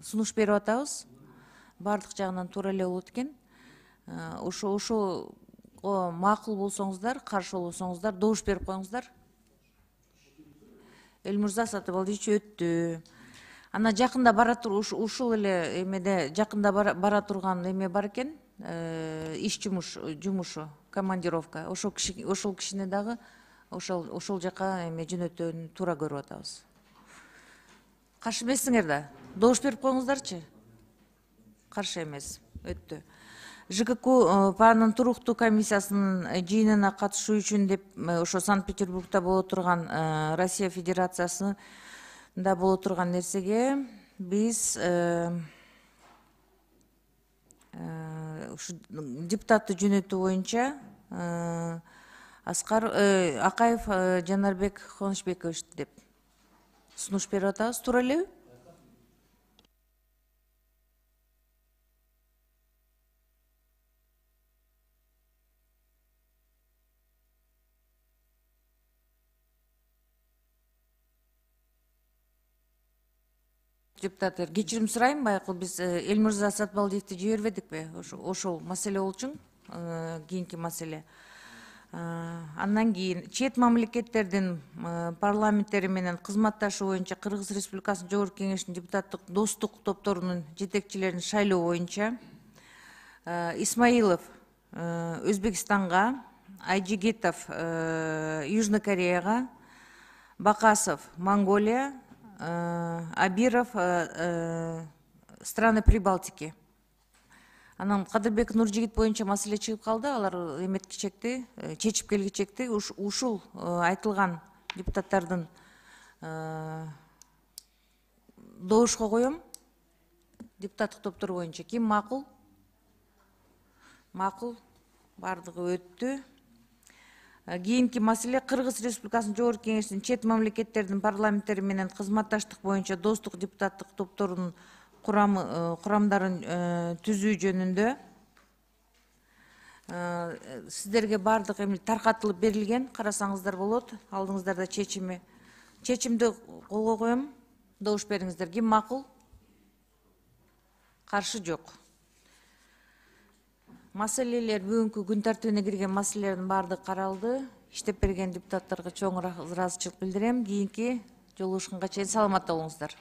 сунуш берип атабыз. Бардык жагынан туура эле болот экен. Ошо ошого макул болсоңуздар, каршы болсоңуздар, добуш берип коюңуздар. Элмирза Сатыбалдиевич өттү. Ана жакында бара тур ушул эле эмеде жакында бара турган эме бар экен, иш жумуш жумушу, командировка. Ошол киши ошол кишини дагы ошол ошол жака эме жөнөтүүнү туура көрүп атабыз. Каршы эмессиңер да? Добуш берип коюңуздарчы. Каршы эмес, өттү. ЖКК паранын туруктуу комиссиясынын жыйынына катышуу үчүн деп ошо Санкт-Петербургда боло турган Россия Федерациясында боло турган нерсеге биз ушу депутаттык жөнөтүү боюнча Аскар Акаев Жанарбек Хоношбекович деп сунуш берип атабыз. Туура элеби? Депутаттар, кечирим сурайм, байкы биз Элмирза Сатыбалдиевди жибербедикпи? Ошол маселе болчу, кийинки маселе. Андан кийин чет мамлекеттердин парламенттери менен кызматташуу боюнча Кыргыз Республикасынын Жогорку Кеңешинин депутаттык достук топторунун жетекчилерин шайлоо боюнча Исмаилов Өзбекстанга, Айжигитов Южный Кореяга, Бакасов Монголия, Абиров страны Прибалтики. Анан Кадырбек Нуржигит боюнча маселе чыгып калды. Алар эметкичекти, чечип келгичекти. Ушул айтылган депутаттардын добушка коем. Депутаттык топтор боюнча ким макул? Макул. Бардыгы өттү. Кийинки маселе Кыргыз Республикасынын Жогорку Кеңешинин чет мамлекеттердин парламенттери менен кызматташтык боюнча достук депутаттык топторунун курамдарын түзүү жөнүндө сиздерге бардык эми таркатылып берилген, карасаңыздар болот, алдыңыздарда чечими. Чечимди колго коем, добуш бериңиздер. Ким макул? Каршы жок. Маселелер бүгүнкү күн тартибине кирген маселелердин баардыгы каралды. Иштеп берген депутаттарга чоң ыраазычылык билдирем. Кийинки жолугушканга чейин саламатта болуңуздар.